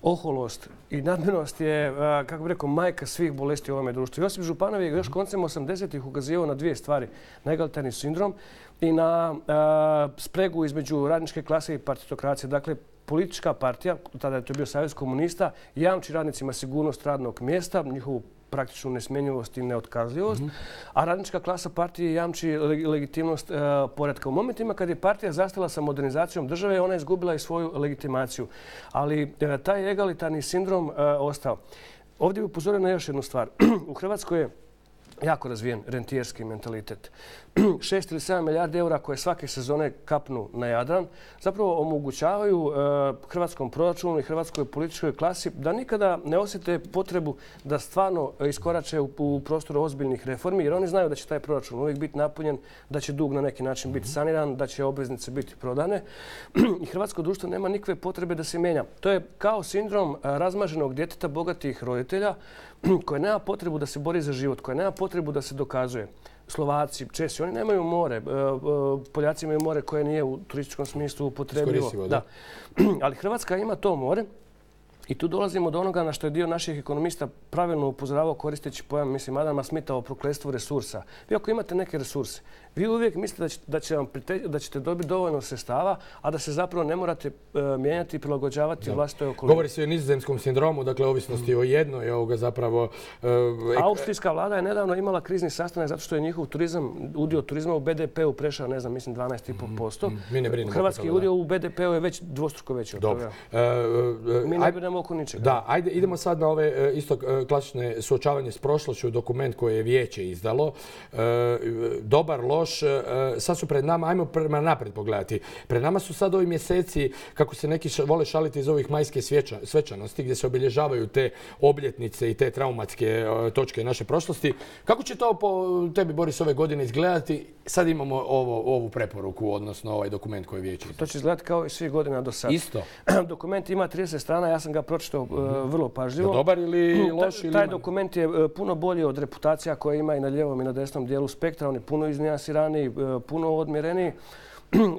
Oholost i nadmenost je, kako bih rekao, majka svih bolesti u ovome društvu. Josip Županov je još koncem osamdesetih ukazivao na dvije stvari. Na egalitarni sindrom i na a, spregu između radničke klase i partitokracije. Dakle, politička partija, tada je to bio Savez komunista, jamči radnicima sigurnost radnog mjesta, njihovu praktičnu nesmjenjivost i neotkazljivost, mm-hmm. a radnička klasa partije jamči legitimnost uh, poretka. U momentima kad je partija zastala sa modernizacijom države, ona je izgubila i svoju legitimaciju. Ali uh, taj egalitarni sindrom uh, ostao. Ovdje bih upozorio na još jednu stvar. U Hrvatskoj je jako razvijen rentijerski mentalitet. Šest ili sedam milijardi eura koje svake sezone kapnu na Jadran zapravo omogućavaju e, hrvatskom proračunu i hrvatskoj političkoj klasi da nikada ne osjete potrebu da stvarno iskorače u, u prostoru ozbiljnih reformi, jer oni znaju da će taj proračun uvijek biti napunjen, da će dug na neki način biti saniran, da će obveznice biti prodane i hrvatsko društvo nema nikakve potrebe da se mijenja. To je kao sindrom razmaženog djeteta bogatih roditelja koje nema potrebu da se bori za život, koje nema potrebu da se dokazuje. Slovaci, Česi, oni nemaju more. Poljaci imaju more koje nije u turističkom smislu upotrebljivo. Da. Ali Hrvatska ima to more i tu dolazimo do onoga na što je dio naših ekonomista pravilno upozoravao koristeći pojam, mislim, Adama Smitha o prokletstvu resursa. Vi ako imate neke resurse, vi uvijek mislite da, će, da, će vam prite, da ćete dobiti dovoljno sredstava, a da se zapravo ne morate uh, mijenjati i prilagođavati vlastitoj okolini. Govori se o nizozemskom sindromu, dakle ovisnosti mm. o jednoj, ovoga zapravo... Uh, ek... Austrijska vlada je nedavno imala krizni sastanak zato što je njihov turizam, udio turizma u be de pe u prešao, ne znam, mislim dvanaest zarez pet posto. Mm. Mi ne brinemo. Hrvatski udio u be de pe u je već dvostruko veći od toga. Uh, uh, Mi ne brinemo oko ničega. Da, ajde, idemo sad na ove uh, isto uh, klasične suočavanje s prošlošću, dokument koje je vijeće izdalo. Uh, dobar, loš, sad su pred nama, ajmo prema naprijed pogledati. Pred nama su sad ovi mjeseci, kako se neki vole šaliti iz ovih majske sveča, svečanosti, gdje se obilježavaju te obljetnice i te traumatske točke naše prošlosti. Kako će to po tebi, Boris, ove godine izgledati? Sad imamo ovo, ovu preporuku, odnosno ovaj dokument koji je vijeće. To će izgledati kao i svih godina do sada. Isto. Dokument ima trideset strana, ja sam ga pročitao uh, vrlo pažljivo. Dobar ili loš? Taj, taj dokument je uh, puno bolji od reputacija koje ima i na lijevom i na desnom dijelu spektra. On je puno iznijansiraniji, uh, puno odmjereniji,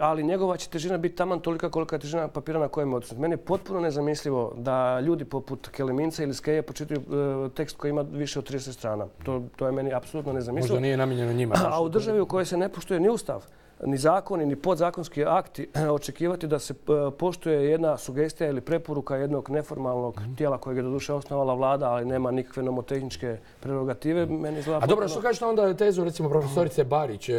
ali njegova će težina biti taman tolika kolika je težina papira na kojem je odsut. Meni je potpuno nezamislivo da ljudi poput Keleminca ili Skeje počitaju uh, tekst koji ima više od trideset strana. To, to je meni apsolutno nezamislivo. Možda nije namijenjeno njima. A u državi u kojoj se ne poštuje ni ustav, ni zakoni, ni podzakonski akti, očekivati da se poštuje jedna sugestija ili preporuka jednog neformalnog mm. tijela kojeg je doduše osnovala vlada, ali nema nikakve nomotehničke prerogative, meni izgleda... A dobro, što kažeš na onda tezu, recimo, profesorice Barić,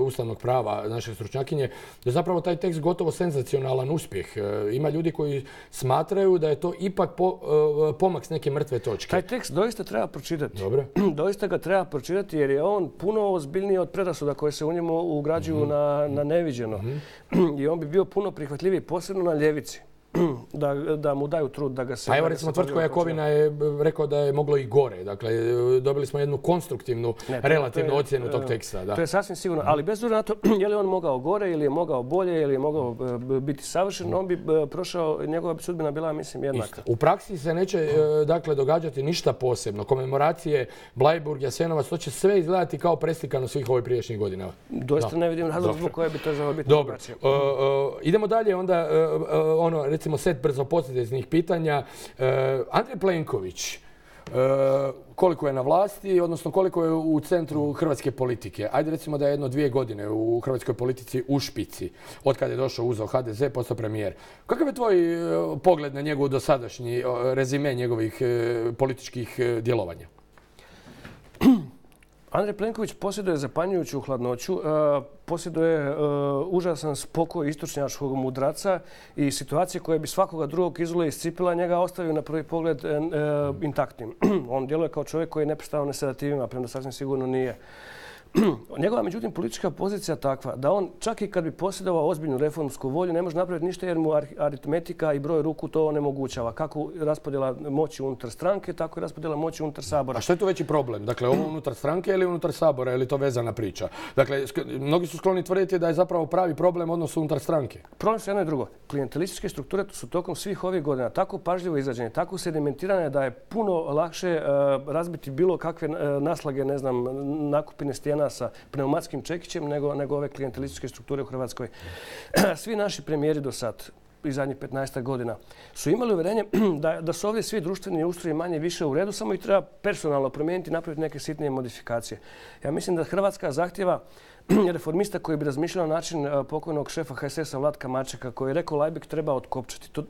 ustavnog prava naše stručnjakinje, da je zapravo taj tekst gotovo senzacionalan uspjeh. Ima ljudi koji smatraju da je to ipak po, pomak s neke mrtve točke. Taj tekst doista treba pročitati. Dobro. Doista ga treba pročitati jer je on puno ozbiljniji od predrasuda koje se u njemu ugrađuju mm. na na neviđeno. Mm-hmm. I on bi bio puno prihvatljiviji, posebno na ljevici. Da, da mu daju trud da ga se... Pa evo recimo Tvrtko Jakovina je rekao da je moglo i gore. Dakle, dobili smo jednu konstruktivnu, ne, to, relativnu to je, ocjenu tog teksta. Da. To je sasvim sigurno. Ali bez obzira na to, je li on mogao gore ili je mogao bolje ili je mogao biti savršen, on bi prošao, njegova bi sudbina bila, mislim, jednaka. Isto. U praksi se neće dakle, događati ništa posebno. Komemoracije, Bleiburg, Jasenovac, to će sve izgledati kao preslikano svih ovih prijašnjih godina. Doista ne vidim razlog zbog koje bi to trebalo biti. Dobro. Uh, uh, idemo dalje onda, uh, uh, ono, recimo set brzo posljednjih pitanja. Uh, Andrej Plenković, uh, koliko je na vlasti, odnosno koliko je u centru hrvatske politike? Ajde recimo da je jedno dvije godine u hrvatskoj politici u špici, od kada je došao uzeo ha de ze, postao premijer. Kakav je tvoj uh, pogled na njegov dosadašnji uh, rezime njegovih uh, političkih uh, djelovanja? Andrej Plenković posjeduje zapanjujuću hladnoću, posjeduje užasan spokoj istočnjačkog mudraca i situacije koje bi svakoga drugog izole iscipila njega ostavio na prvi pogled intaktnim. On djeluje kao čovjek koji je neprestano na sedativima, premda sasvim sigurno nije. Njegova, međutim, politička pozicija takva da on čak i kad bi posjedovao ozbiljnu reformsku volju ne može napraviti ništa jer mu aritmetika i broj ruku to onemogućava. Kako raspodjela moći unutar stranke, tako i raspodjela moći unutar Sabora. A što je tu veći problem? Dakle, ovo unutar stranke ili unutar Sabora? Ili to vezana priča? Dakle, mnogi su skloni tvrditi da je zapravo pravi problem odnos unutar stranke. Problem su jedno i drugo. Klijentelističke strukture su tokom svih ovih godina tako pažljivo izrađene, tako sedimentirane da je puno lakše razbiti bilo kakve naslage, ne znam, nakupine stijena sa pneumatskim čekićem nego, nego ove klijentelističke strukture u Hrvatskoj. Svi naši premijeri do sad, i zadnjih petnaest godina, su imali uvjerenje da, da su ovdje svi društveni ustroji manje više u redu, samo ih treba personalno promijeniti i napraviti neke sitnije modifikacije. Ja mislim da Hrvatska zahtjeva reformista koji bi razmišljao na način pokojnog šefa H S S-a Vlatka Mačeka koji je rekao Lajbek treba otkopčati. Tu,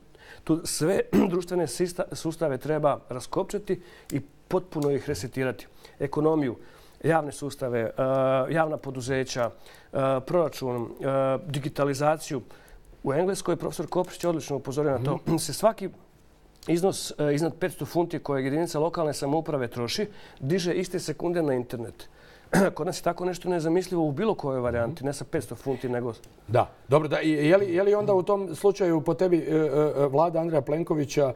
tu sve društvene sustave treba raskopčati i potpuno ih resetirati. Ekonomiju, javne sustave, javna poduzeća, proračun, digitalizaciju. U Engleskoj profesor Koprić je odlično upozorio na to. Se svaki iznos iznad petsto funti koje jedinica lokalne samouprave troši diže iste sekunde na internet. Kod nas je tako nešto nezamislivo u bilo kojoj varijanti, ne sa petsto funti, nego... Da, dobro. Da. Je li, je li onda u tom slučaju po tebi vlada Andreja Plenkovića,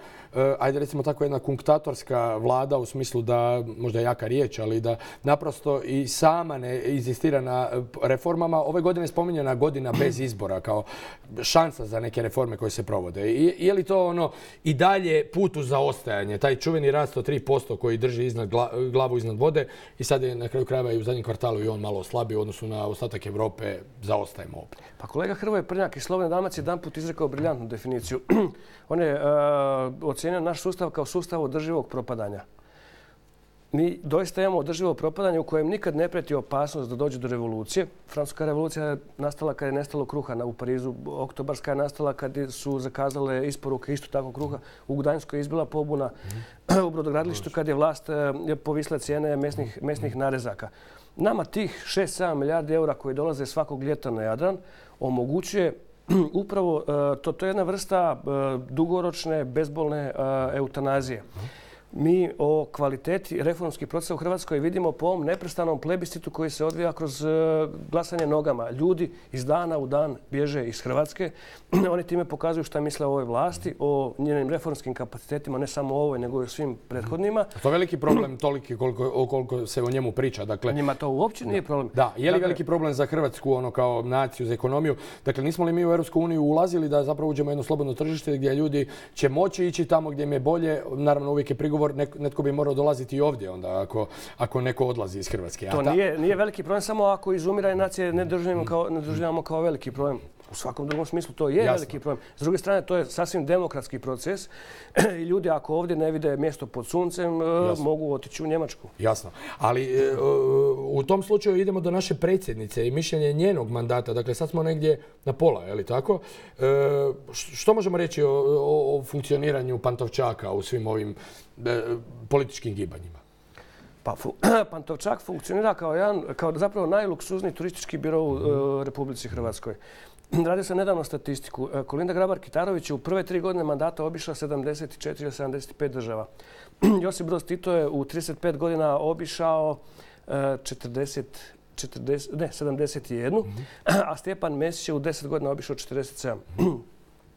ajde recimo tako jedna kunktatorska vlada u smislu da, možda je jaka riječ, ali da naprosto i sama ne inzistira na reformama. Ove godine je spominjena godina bez izbora kao šansa za neke reforme koje se provode. I, je li to ono i dalje put u zaostajanje, taj čuveni rast od tri posto koji drži iznad glavu iznad vode i sad je na kraju krajeva i u zadnjem kvartalu i on malo slabiji u odnosu na ostatak Europe, zaostajemo opet. Pa kolega Hrvoje Prnjak iz Slobodne Dalmacije jedan put izrekao briljantnu definiciju. On je uh, ocijenio naš sustav kao sustav održivog propadanja. Mi doista imamo održivo propadanje u kojem nikad ne prijeti opasnost da dođe do revolucije. Francuska revolucija je nastala kad je nestalo kruha u Parizu. Oktobarska je nastala kad su zakazale isporuke isto tako kruha. U Gdanjskoj je izbila pobuna. U brodogradilištu kad je vlast povisla cijene mesnih, mesnih narezaka. Nama tih šest sedam milijardi eura koji dolaze svakog ljeta na Jadran omogućuje upravo to, to je jedna vrsta dugoročne, bezbolne eutanazije. Mi o kvaliteti reformskih procesa u Hrvatskoj vidimo po ovom neprestanom plebiscitu koji se odvija kroz glasanje nogama. Ljudi iz dana u dan bježe iz Hrvatske. Oni time pokazuju šta misle o ovoj vlasti, o njenim reformskim kapacitetima, ne samo o ovoj, nego i o svim prethodnima. To je veliki problem toliki koliko, koliko se o njemu priča. Dakle, njima to uopće nije problem. Da, je li dakle, veliki problem za Hrvatsku ono kao naciju, za ekonomiju? Dakle, nismo li mi u Europsku uniju ulazili da zapravo uđemo u jedno slobodno tržište gdje ljudi će moći ići tamo gdje im je bolje? Naravno, uvijek je prigovor netko bi morao dolaziti i ovdje onda ako, ako neko odlazi iz Hrvatske. To nije, nije veliki problem, samo ako izumiranje nacije ne doživljavamo kao, ne doživljavamo kao veliki problem. U svakom drugom smislu to je Jasno. veliki problem. S druge strane, to je sasvim demokratski proces i ljudi ako ovdje ne vide mjesto pod suncem, Jasno. mogu otići u Njemačku. Jasno. Ali u tom slučaju idemo do naše predsjednice i mišljenje njenog mandata. Dakle, sad smo negdje na pola, je li tako? Što možemo reći o, o, o funkcioniranju Pantovčaka u svim ovim političkim gibanjima? Pa, Pantovčak funkcionira kao, jedan, kao zapravo najluksuzniji turistički biro u uh, Republici Hrvatskoj. Radio sam nedavno statistiku. Kolinda Grabar-Kitarović je u prve tri godine mandata obišla sedamdeset četiri ili sedamdeset pet država. Josip Broz Tito je u trideset pet godina obišao uh, četrdeset, četrdeset, ne, sedamdeset jedan, mm-hmm. a Stjepan Mesić je u deset godina obišao četrdeset sedam.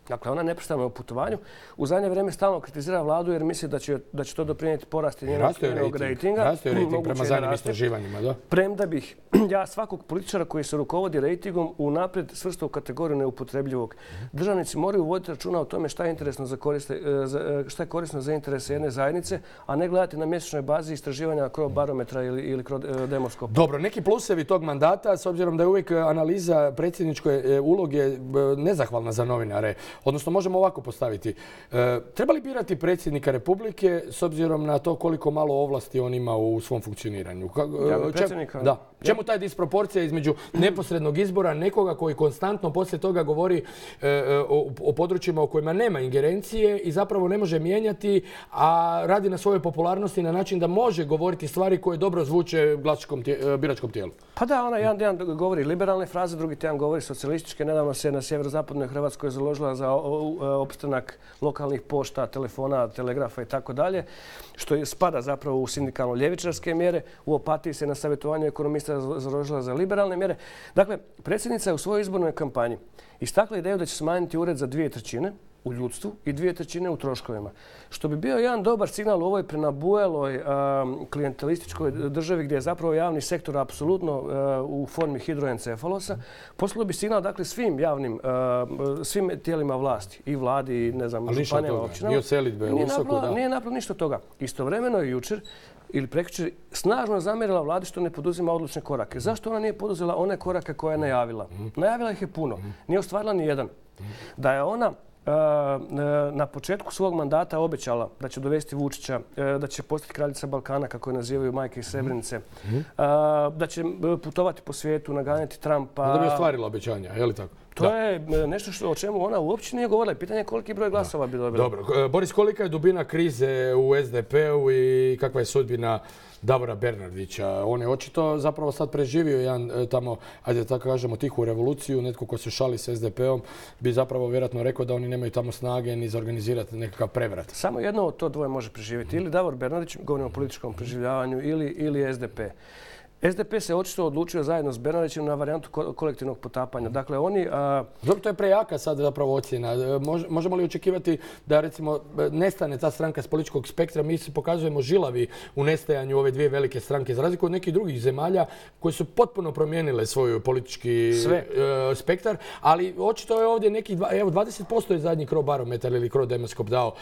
Dakle, ona je neprestano u putovanju. U zadnje vrijeme stalno kritizira vladu jer misli da će, da će to doprinijeti porasti njenog rejtinga. Raste rejting prema zadnjim istraživanjima, da? Premda bih ja svakog političara koji se rukovodi rejtingom unaprijed svrstao u kategoriju neupotrebljivog. Državnici moraju voditi računa o tome šta je interesno za koriste, šta je korisno za interese jedne zajednice, a ne gledati na mjesečnoj bazi istraživanja Crobarometra ili, ili Demoskopa. Dobro, neki plusevi tog mandata, s obzirom da je uvijek analiza predsjedničke uloge nezahvalna za novinare. Odnosno, možemo ovako postaviti. E, treba li birati predsjednika Republike s obzirom na to koliko malo ovlasti on ima u svom funkcioniranju? Ja, predsjednika. Da. Čemu taj disproporcija između neposrednog izbora nekoga koji konstantno poslije toga govori e, o, o područjima u kojima nema ingerencije i zapravo ne može mijenjati, a radi na svojoj popularnosti na način da može govoriti stvari koje dobro zvuče glasačkom tije, biračkom tijelu? Pa da, ona jedan dan govori liberalne fraze, drugi tjedan govori socijalističke. Nedavno se na sjeverozapadnoj Hrvatskoj založila za opstanak lokalnih pošta, telefona, telegrafa i tako dalje, što spada zapravo u sindikalno ljevičarske mjere. U Opatiji se na savjetovanju ekonomista založila za liberalne mjere. Dakle, predsjednica je u svojoj izbornoj kampanji istakla ideju da će smanjiti ured za dvije trećine u ljudstvu i dvije trećine u troškovima. Što bi bio jedan dobar signal u ovoj prenabujeloj klijentelističkoj državi gdje je zapravo javni sektor apsolutno u formi hidroencefalosa. Poslalo bi signal dakle svim javnim, svim tijelima vlasti i vladi i ne znam, županijama, općinama. Nije od selidbe, usoko, da. Nije napravilo ništa toga. Istovremeno je jučer ili prekjučer snažno zamjerila vladi što ne poduzima odlučne korake. Zašto ona nije poduzela one korake koje je najavila? Najavila ih je puno. Nije ostvarila ni jedan. Da je ona na početku svog mandata obećala da će dovesti Vučića, da će postati kraljica Balkana, kako je nazivaju majke iz Srebrenice, da će putovati po svijetu, naganjati Trumpa. Da bi ostvarila obećanja, je li tako? To je nešto što, o čemu ona uopće nije govorila. Pitanje je koliki broj glasova bi dobila. Dobro. Boris, kolika je dubina krize u es de pe-u i kakva je sudbina Davora Bernardića? On je očito zapravo sad preživio jedan tamo, ajde tako kažemo, tihu revoluciju. Netko ko se šali s es de pe-om bi zapravo vjerojatno rekao da oni nemaju tamo snage ni za organizirati nekakav prevrat. Samo jedno od to dvoje može preživjeti. Ili Davor Bernardić, govorimo o političkom preživljavanju, ili, ili es de pe. es de pe se očito odlučio zajedno s Bernardićem na varijantu kolektivnog potapanja. Dakle, oni... A... Dobro, to je prejaka sad zapravo ocjena. Možemo li očekivati da, recimo, nestane ta stranka s političkog spektra? Mi se pokazujemo žilavi u nestajanju ove dvije velike stranke, za razliku od nekih drugih zemalja koje su potpuno promijenile svoj politički Sve. spektar, ali očito je ovdje nekih... Evo, dvadeset posto je zadnji Crobarometar ili Crodemoskop dao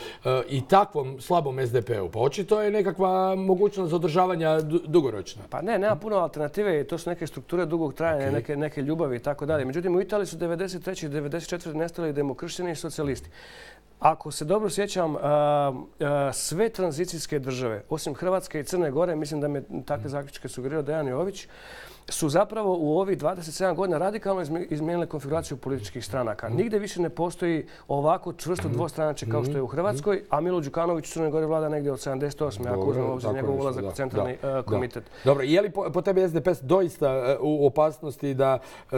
i takvom slabom es de pe-u. Pa očito je nekakva mogućnost održavanja dugoročna. Pa ne, nema puno alternative i to su neke strukture dugog trajanja, okay. neke, neke ljubavi i tako dalje. Međutim, u Italiji su devedeset treće i devedeset četvrte nestali demokršćani i socijalisti. Ako se dobro sjećam, a, a, sve tranzicijske države, osim Hrvatske i Crne Gore, mislim da me takve zaključke sugerirao Dejan Jović, su zapravo u ovih dvadeset sedam godina radikalno izmijenile konfiguraciju političkih stranaka. Nigde više ne postoji ovako čvrsto dvostranačje kao što je u Hrvatskoj, a Milo Đukanović u Crnoj Gori vlada negdje od sedamdeset osme ako uzmemo obzir njegov ulazak u centralni da, komitet. Da. Dobro, je li po, po tebi es de pe doista u opasnosti da e,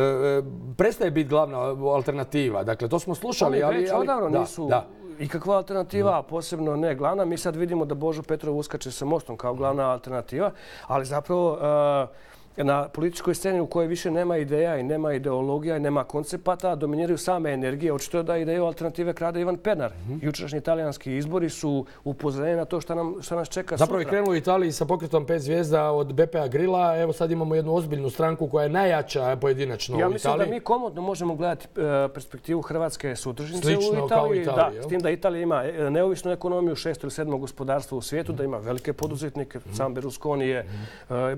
prestaje biti glavna alternativa? Dakle, to smo slušali, ali... Oni već odavno nisu... Da. Ikakva alternativa, a posebno ne glavna. Mi sad vidimo da Božo Petrov uskače sa Mostom kao glavna alternativa, ali zapravo uh, na političkoj sceni u kojoj više nema ideja i nema ideologija i nema koncepata, dominiraju same energije. Očito je da ideju alternative krade Ivan Pernar. Mm-hmm. Jučerašnji italijanski izbori su upozorenje na to šta, nam, šta nas čeka sutra. Zapravo je krenulo u Italiji sa pokretom pet zvijezda od be pe a Grilla. Evo sad imamo jednu ozbiljnu stranku koja je najjača pojedinačno u Italiji. Ja mislim da mi komodno možemo gledati e, perspektivu Hrvatske sutržnice u Italiji. Kao u Italiji. Da, s tim da Italija ima neovisnu ekonomiju, šesto ili sedmo gospodarstvo u svijetu, mm-hmm. da ima velike poduzetnike. Mm-hmm. Sam Berlusconi je mm-hmm. e,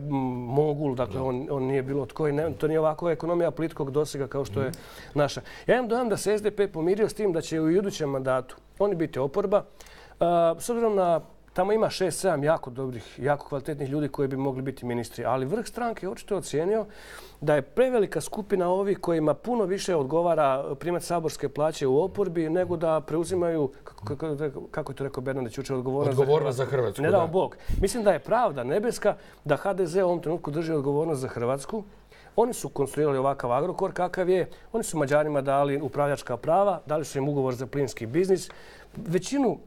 mogul, dakle da. on, on nije bilo tko i ne, to nije ovako ekonomija plitkog dosega kao što je naša. Ja imam dojam da se es de pe pomirio s tim da će u idućem mandatu oni biti oporba. Uh, s obzirom na tamo ima šest sedam jako dobrih, jako kvalitetnih ljudi koji bi mogli biti ministri, ali vrh stranke očito ocijenio da je prevelika skupina ovih kojima puno više odgovara primati saborske plaće u oporbi nego da preuzimaju, kako, kako, kako je to rekao Bernardić jučer, odgovornost, odgovornost za Hrvatsku. Za Hrvatsku ne dao Bog. Mislim da je pravda nebeska da ha de ze u ovom trenutku drži odgovornost za Hrvatsku. Oni su konstruirali ovakav Agrokor kakav je. Oni su Mađarima dali upravljačka prava, dali su im ugovor za plinski biznis. Većinu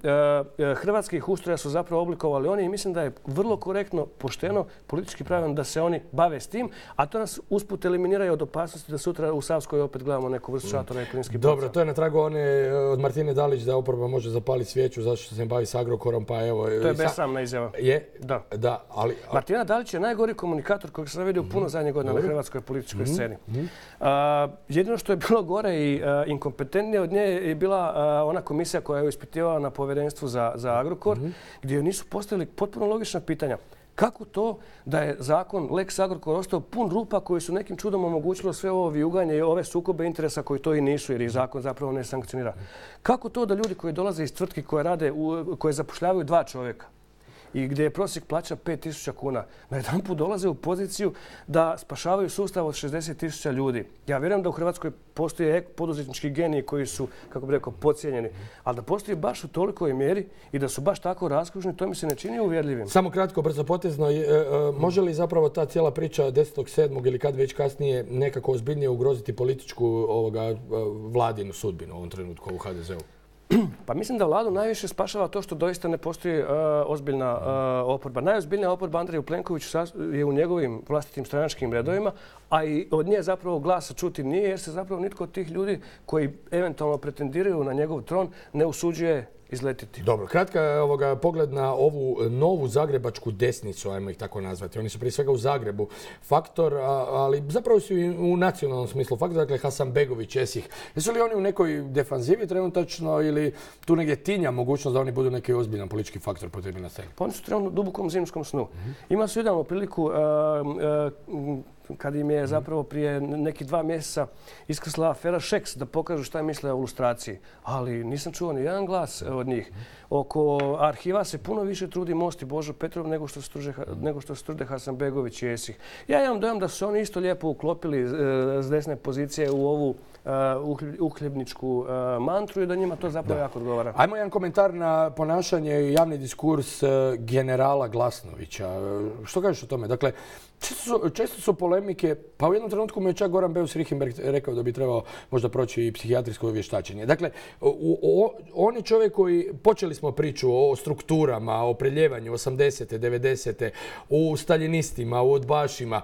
e, hrvatskih ustroja su zapravo oblikovali oni i mislim da je vrlo korektno, pošteno, politički pravilno da se oni bave s tim, a to nas usput eliminiraju od opasnosti da sutra u Savskoj opet gledamo neku vrstu šatora i plinski Dobro, poca. To je na tragu one od Martine Dalić da oporba može zapaliti svijeću zašto se bavi s Agrokorom, pa evo... To je besramna izjava. Je? Da. Da, ali... Martina Dalić je najgori komunikator kojeg sam vidio puno zadnjih godina na hrvatskoj političkoj sceni. A, jedino što je bilo gore i a, inkompetentnije od nje je bila a, ona komisija koja je ispitivala na povjerenstvu za, za Agrokor, mm-hmm. gdje nisu postavili potpuno logična pitanja. Kako to da je zakon Lex Agrokor ostao pun rupa koji su nekim čudom omogućilo sve ovo vijuganje i ove sukobe interesa koji to i nisu jer ih zakon zapravo ne sankcionira? Kako to da ljudi koji dolaze iz tvrtki koje rade, koje zapošljavaju dva čovjeka i gdje je prosjek plaća pet tisuća kuna, na jedan put dolaze u poziciju da spašavaju sustav od šezdeset tisuća ljudi. Ja vjerujem da u Hrvatskoj postoje poduzetnički geniji koji su, kako bih rekao, podcijenjeni, ali da postoji baš u tolikoj mjeri i da su baš tako raskošni, to mi se ne čini uvjerljivim. Samo kratko, brzopotezno, može li zapravo ta cijela priča desetog sedmog ili kad već kasnije nekako ozbiljnije ugroziti političku ovoga, vladinu sudbinu u ovom trenutku u H D Z-u? Pa mislim da vladu najviše spašava to što doista ne postoji uh, ozbiljna uh, oporba. Najozbiljnija oporba Andreju Plenkoviću je u njegovim vlastitim stranačkim redovima, a i od nje zapravo glasa čuti nije jer se zapravo nitko od tih ljudi koji eventualno pretendiraju na njegov tron ne usuđuje izletiti. Dobro, kratka ovoga, pogled na ovu novu zagrebačku desnicu, ajmo ih tako nazvati. Oni su prije svega u Zagrebu faktor, a, ali zapravo su i u nacionalnom smislu faktor, dakle Hasanbegović, Esih. Jesu li oni u nekoj defanzivi trenutačno ili tu negdje tinja mogućnost da oni budu neki ozbiljan politički faktor potrebni na sceni? Pa oni su trenutno u dubokom zimskom snu. Mm-hmm. Ima su idealnu priliku uh, uh, kad im je zapravo prije nekih dva mjeseca iskrsla afera Šeks da pokažu šta je misle o lustraciji. Ali nisam čuo ni jedan glas od njih. Oko arhiva se puno više trudi Most i Božo Petrov nego što se trude, nego što se trude Hasanbegović i Esih. Ja imam dojam da su oni isto lijepo uklopili s desne pozicije u ovu uhljebničku mantru i da njima to zapravo jako odgovara. Ajmo jedan komentar na ponašanje i javni diskurs generala Glasnovića. Što kažeš o tome? Dakle, često su, često su polemike, pa u jednom trenutku mi je čak Goran Beus-Richembergh rekao da bi trebao možda proći i psihijatrijsko vještačenje. Dakle, o, o, on je čovjek koji, počeli smo priču o strukturama, o preljevanju osamdesete, devedesete, u stalinistima, u udbašima.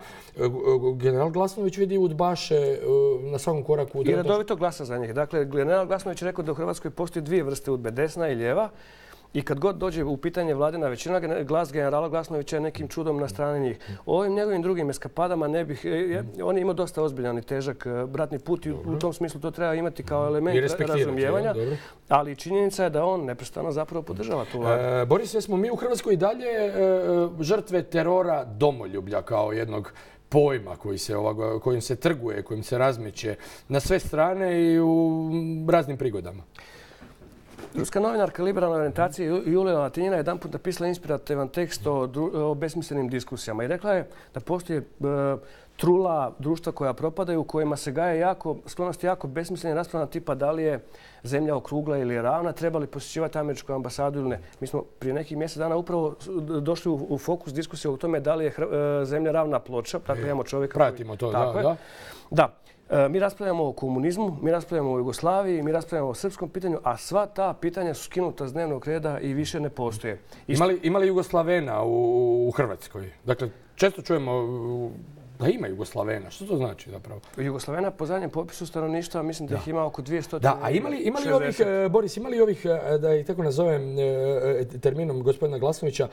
General Glasnović vidi udbaše na svakom koraku. I redovito glasa za njih. Dakle, general Glasnović je rekao da u Hrvatskoj postoji dvije vrste udbe, desna i lijeva. I kad god dođe u pitanje vladina većina, glas generala Glasnovića je nekim čudom na strani njih. O ovim njegovim drugim eskapadama ne bih... Je, on je imao dosta ozbiljan i težak bratni put i u tom smislu to treba imati kao element razumijevanja. Ali činjenica je da on neprestano zapravo podržava tu vladu. E, Boris, jesmo mi u Hrvatskoj i dalje e, žrtve terora domoljublja kao jednog pojma koji se, ovoga, kojim se trguje, kojim se razmeće na sve strane i u raznim prigodama? Ruska novinarka liberalne orijentacije Julija Latinina je jedanput napisala inspirativan tekst o, o besmislenim diskusijama i rekla je da postoji e, trula društva koja propadaju, u kojima se gaje jako, sklonosti jako besmislene rasprava tipa da li je zemlja okrugla ili ravna, treba li posjećivati američku ambasadu ili ne. Mi smo prije nekih mjesec dana upravo došli u, u fokus diskusije o tome da li je e, zemlja ravna ploča. Dakle, imamo čovjeka... Pratimo to, tako da, je. da. Da. Mi raspravljamo o komunizmu, mi raspravljamo o Jugoslaviji, mi raspravljamo o srpskom pitanju, a sva ta pitanja su skinuta s dnevnog reda i više ne postoje. Ima li, ima li Jugoslavena u, u Hrvatskoj? Dakle, često čujemo da ima Jugoslavena. Što to znači zapravo? Jugoslavena po zadnjem popisu stanovništva mislim da, da ih ima oko dvjesto. Da, a ima li, ima li ovih, Boris, ima li ovih, da ih tako nazovem terminom gospodina Glasnovića,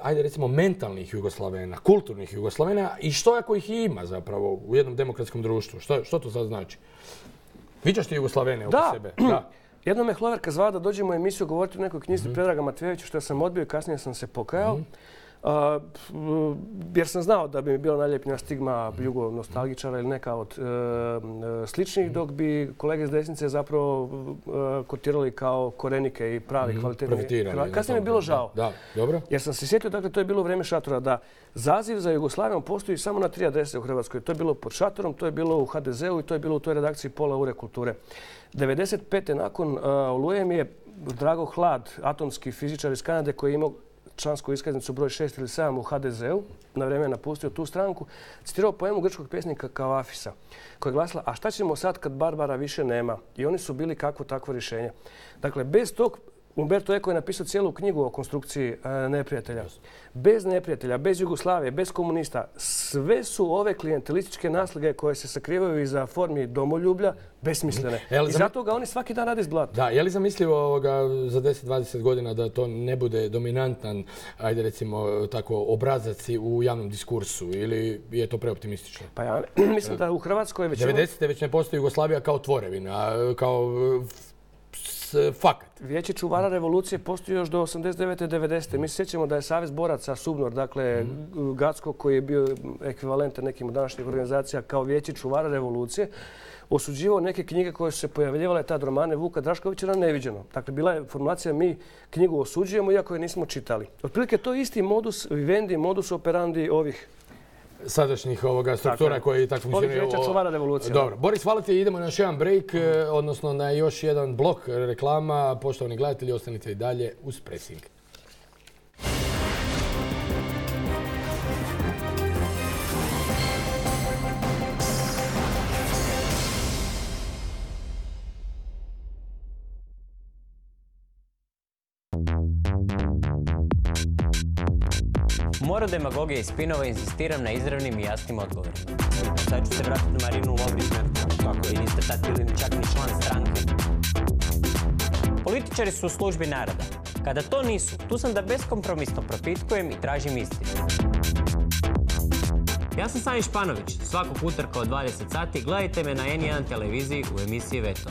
ajde recimo mentalnih Jugoslavena, kulturnih Jugoslavena i što ako ih ima zapravo u jednom demokratskom društvu? Što, što to sad znači? Viđaš ti Jugoslavene oko sebe? Da. Jednom me Hloverka zvala da dođemo u emisiju govoriti o nekoj knjizi mm-hmm. Predraga Matvejevića što sam odbio i kasnije sam se pokajao. Mm-hmm. Uh, jer sam znao da bi mi bila najljepnija stigma jugo-nostalgičara ili neka od uh, sličnih, dok bi kolege s desnice zapravo uh, kotirali kao korenike i pravi mm-hmm. kvalitetni. Kasnije mi je bilo žao. Da, dobro. Jer sam se sjetio, dakle, to je bilo u vrijeme šatora, da zaziv za Jugoslavijom postoji samo na tri adrese u Hrvatskoj. To je bilo pod šatorom, to je bilo u H D Z-u i to je bilo u toj redakciji Pola ure kulture. devedeset pete nakon uh, Oluje mi je Drago Hlad, atomski fizičar iz Kanade koji je imao člansku iskaznicu broj šest ili sedam u H D Z-u, na vrijeme je napustio tu stranku, citirao poemu grčkog pjesnika Kavafisa, koja je glasila: a šta ćemo sad kad Barbara više nema? I oni su bili kakvo takvo rješenje. Dakle, bez tog, Umberto Eco je napisao cijelu knjigu o konstrukciji e, neprijatelja. Bez neprijatelja, bez Jugoslavije, bez komunista, sve su ove klijentelističke naslige koje se sakrivaju iza formi domoljublja besmislene. I zato ga oni svaki dan rade iz blata. Da, je li zamislivo ovoga za deset do dvadeset godina da to ne bude dominantan, ajde recimo tako, obrazac u javnom diskursu ili je to preoptimistično? Pa ja mislim da u Hrvatskoj već... devedesete već ne postoji Jugoslavija kao tvorevina, kao fakat. Vijeće čuvara revolucije postoji još do osamdeset devete devedesete Mi se sjećamo da je Savez boraca Subnor, dakle mm. Gacko, koji je bio ekvivalentan nekim od današnjih organizacija kao vijeće čuvara revolucije, osuđivao neke knjige koje su se pojavljivale, tad romane Vuka Draškovića, na neviđeno. Dakle, bila je formulacija mi knjigu osuđujemo iako je nismo čitali. Otprilike to je isti modus vivendi, modus operandi ovih sadašnjih ovoga struktura koji tako funkcioniraju. Ovih vijeća čuvara revolucije. Dobro. Boris, hvala ti. Idemo na još jedan break, odnosno na još jedan blok reklama. Poštovani gledatelji, ostanite i dalje uz Pressing. Moru demagogije i spinova insistiram na izravnim i jasnim odgovorima. Sad ću se vratiti na Marinu Lovrić, kako i niste tad bili čak ni član stranke. Političari su u službi naroda. Kada to nisu, tu sam da beskompromisno propitkujem i tražim istinu. Ja sam Sani Španović. Svakog utorka od dvadeset sati gledajte me na en jedan televiziji u emisiji Veto.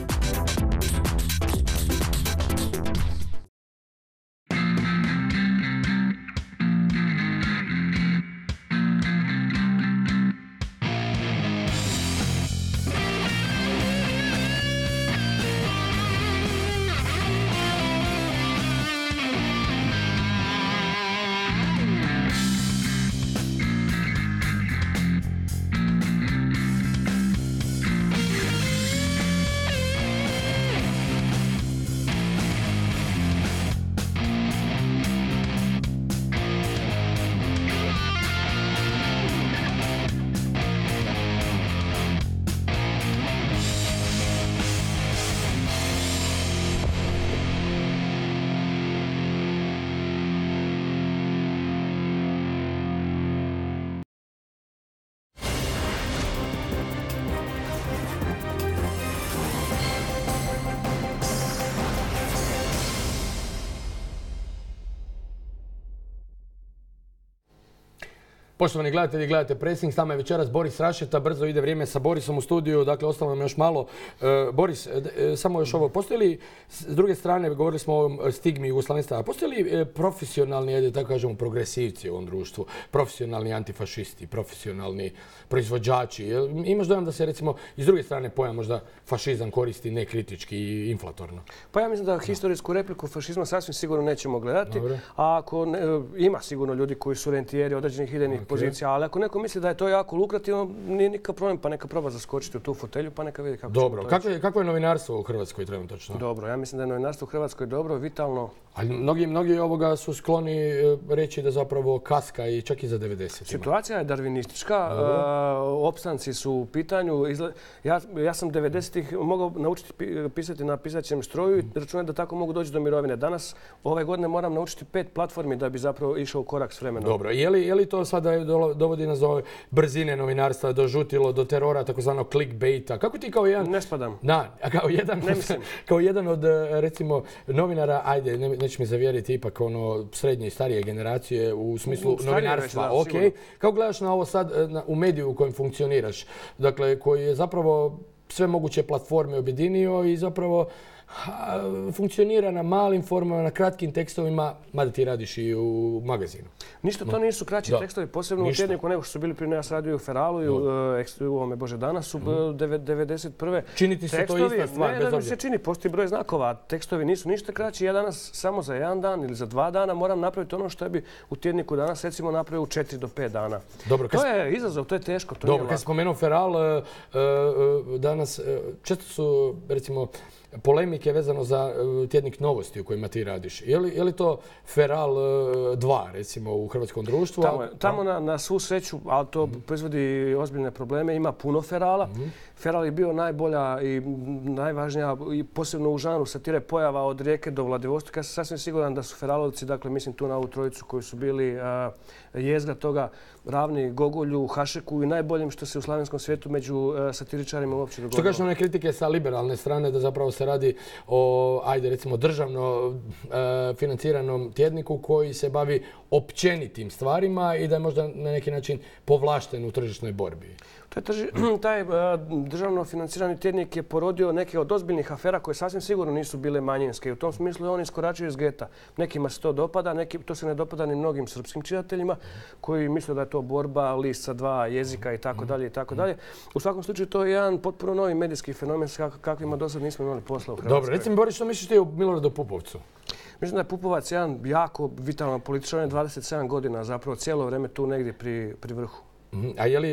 Poštovani gledatelji, gledate Pressing, s nama je večeras Boris Rašeta, brzo ide vrijeme sa Borisom u studiju, dakle ostalo nam još malo. E, Boris, e, samo još ovo, postoji li, s druge strane, govorili smo o ovom stigmi jugoslavenstva, postoji li e, profesionalni, ajde tako kažemo, progresivci u ovom društvu, profesionalni antifašisti, profesionalni proizvođači? E, imaš dojam da se recimo iz druge strane pojam možda fašizam koristi nekritički i inflatorno? Pa ja mislim da historijsku repliku fašizma sasvim sigurno nećemo gledati, Dobre. a ako ne, ima sigurno ljudi koji su rentijeri određenih idejnih okay. pozicija, ali ako neko misli da je to jako lukrativno, nije nikakav problem, pa neka proba zaskočiti u tu fotelju, pa neka vidi kako Dobro, će to kako je, kako je novinarstvo u Hrvatskoj trenutačno? Dobro, ja mislim da je novinarstvo u Hrvatskoj dobro, vitalno. Ali mnogi, mnogi ovoga su skloni reći da zapravo kaska i čak i za devedeset. Situacija je darvinistička, uh, opstanci su u pitanju. Izle... Ja, ja sam devedesetih mogao naučiti pisati na pisaćem stroju i računati da tako mogu doći do mirovine. Danas, ove godine, moram naučiti pet platformi da bi zapravo išao u korak s vremenom. Dobro, je li, je li to sada dovodi nas do brzine novinarstva, do žutilo, do terora, takozvanog clickbaita? Kako ti kao jedan... Ne spadam. Na, kao jedan, kao jedan od, recimo, novinara, ajde, ne, neće mi zavjeriti, ipak ono srednje i starije generacije u smislu starije novinarstva. Već, da, ok. Sigurno. Kako gledaš na ovo sad, na, u mediju u kojem funkcioniraš? Dakle, koji je zapravo sve moguće platforme objedinio i zapravo ha, funkcionira na malim formama, na kratkim tekstovima, mada ti radiš i u magazinu. Ništa, to nisu kraći da. tekstovi, posebno Ništa. u tjedniku nego što su bili prije nas radio u Feralu i u, uh, u ovome Bože danas su mm. devedeset prve. Čini ti se tekstovi, to ista stvar, ne, bez obzira? obzira? Se čini, postoji broj znakova, tekstovi nisu ništa kraći. Ja danas samo za jedan dan ili za dva dana moram napraviti ono što bi u tjedniku danas recimo napravio u četiri do pet dana. Dobro, to je izazov, to je teško, to Dobro, kad spomenuo Feral, uh, uh, danas uh, često su, recimo, polemike vezano za uh, tjednik Novosti u kojima ti radiš. Je li, je li to Feral uh, dva, recimo, u hrvatskom društvu? Tamo, je, tamo na, na svu sreću, ali to mm. proizvodi ozbiljne probleme, ima puno Ferala. Mm. Feral je bio najbolja i najvažnija, i posebno u žanru satire pojava od Rijeke do Vladivostoka. Ja sam sasvim siguran da su Feralovci, dakle mislim tu na ovu trojicu koji su bili uh, jezgra toga, ravni Gogolju, Hašeku i najboljim što se u slavenskom svijetu među uh, satiričarima uopće dogodilo. Što kažeš one kritike sa liberalne strane da zapravo se radi o, ajde recimo, državno uh, financiranom tjedniku koji se bavi općenitim stvarima i da je možda na neki način povlašten u tržišnoj borbi? U Taj državno financirani tjednik je porodio neke od ozbiljnih afera koje sasvim sigurno nisu bile manjinske. U tom smislu je on iskoračio iz geta. Nekima se to dopada, neki, to se ne dopada ni mnogim srpskim čitateljima koji misle da je to borba list sa dva jezika i tako dalje i tako dalje. U svakom slučaju to je jedan potpuno novi medijski fenomen kakvima do sad nismo imali posla u Hrvatskoj. Dobro, recimo Boris, što misliš ti o Miloradu Pupovcu? Mislim da je Pupovac jedan jako vitalan političar, on je dvadeset sedam godina zapravo cijelo vrijeme tu negdje pri, pri vrhu. A je li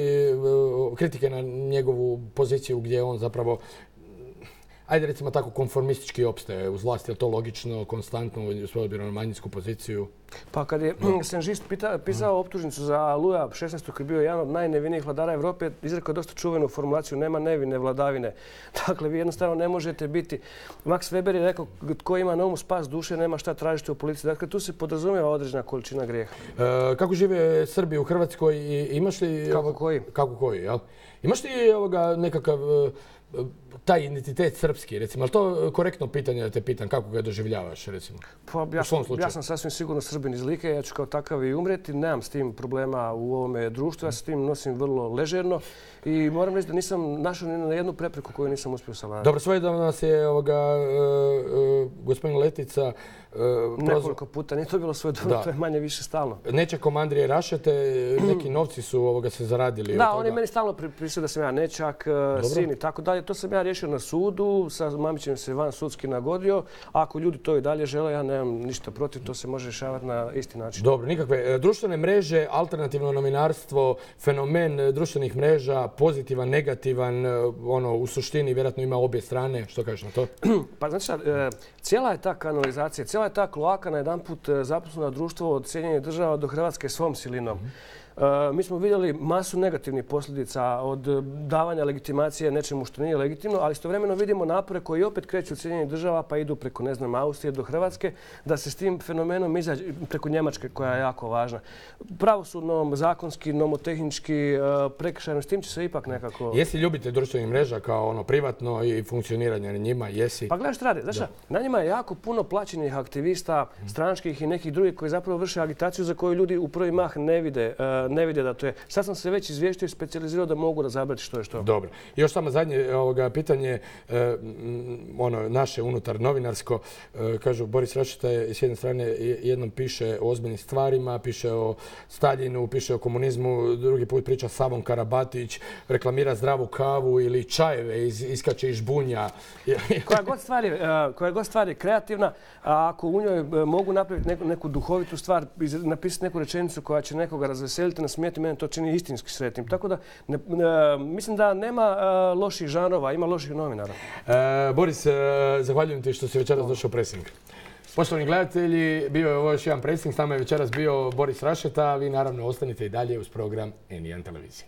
kritike na njegovu poziciju gdje on zapravo, ajde recimo tako, konformistički opstaje uz vlast, je li to logično, konstantno s obzirom na manjinsku poziciju? Pa kad je Senžist pisao optužnicu za Luja šesnaestog koji je bio jedan od najnevinijih vladara Evrope, izrekao dosta čuvenu formulaciju nema nevine vladavine. Dakle, vi jednostavno ne možete biti. Max Weber je rekao tko ima na umu spas duše nema šta tražiti u policiji. Dakle, tu se podrazumijeva određena količina grijeha. E, kako žive Srbi u Hrvatskoj i imaš li... Kako koji? Kako koji, jel? Imaš li ovoga nekakav taj identitet srpski, recimo, ali to korektno pitanje da te pitam, kako ga doživljavaš, recimo? Pa, ja, sam, ja sam sasvim sigurno Srbin iz Like, ja ću kao takav i umreti, nemam s tim problema u ovome društvu, ja se s tim nosim vrlo ležerno i moram reći da nisam našao ni na jednu prepreku koju nisam uspio savladati. Dobro, svojedobno nas je ovoga, uh, uh, gospodin Letica Uh, nekoliko puta, nije to bilo svoje dobro, to je manje više stalno. Nečakom Andrije Rašete, neki novci su ovoga se zaradili. Da, on je meni stalno pripisuo da sam ja nečak, Dobro. sin i tako dalje. To sam ja riješio na sudu, sa Mamićem se van sudski nagodio. Ako ljudi to i dalje žele, ja nemam ništa protiv, to se može rješavati na isti način. Dobro, nikakve. Društvene mreže, alternativno novinarstvo, fenomen društvenih mreža, pozitivan, negativan, ono, u suštini vjerojatno ima obje strane. Što kažeš na to? Pa znači šta, cijela je ta kanalizacija, cijela je ta kloaka na jedan put zaposlena društvo od Sjedinjenih država do Hrvatske svom silinom. Uh, mi smo vidjeli masu negativnih posljedica od davanja legitimacije nečemu što nije legitimno, ali istovremeno vidimo napore koji opet kreću od Sjedinjenih država pa idu preko, ne znam, Austrije do Hrvatske, da se s tim fenomenom izađe preko Njemačke koja je jako važna. Pravosudno, zakonski, nomotehnički, uh, prekršajno, s tim će se ipak nekako... Jesi ljubitelj društvenih mreža kao ono privatno i funkcioniranje na njima? Jesi? Pa gledaj što radi. Znaš, na njima je jako puno plaćenih aktivista, stranačkih i nekih drugih koji zapravo vrše agitaciju za koju ljudi u prvi mah ne vide. Uh, ne vide da to je. Sad sam se već izvještio i specijalizirao da mogu razabrati što je što. Dobro. I još samo zadnje ovoga, pitanje, e, ono, naše unutar novinarsko. E, kažu, Boris Rašeta je s jedne strane jednom piše o ozbiljnim stvarima, piše o Staljinu, piše o komunizmu, drugi put priča Savon Karabatić, reklamira zdravu kavu ili čajeve, iz, iskače iz bunja. koja, god stvar je, koja god stvar je kreativna, a ako u njoj mogu napraviti neku, neku duhovitu stvar, napisati neku rečenicu koja će nekoga razveseliti, nasmijeti, mene to čini istinski sretnim. Tako da ne, ne, mislim da nema uh, loših žanrova, ima loših novinara. E, Boris, e, zahvaljujem ti što si večeras došao u Pressing. Poštovani gledatelji, bio je ovo još jedan Pressing, s nama je večeras bio Boris Rašeta, vi naravno ostanite i dalje uz program N jedan televizije.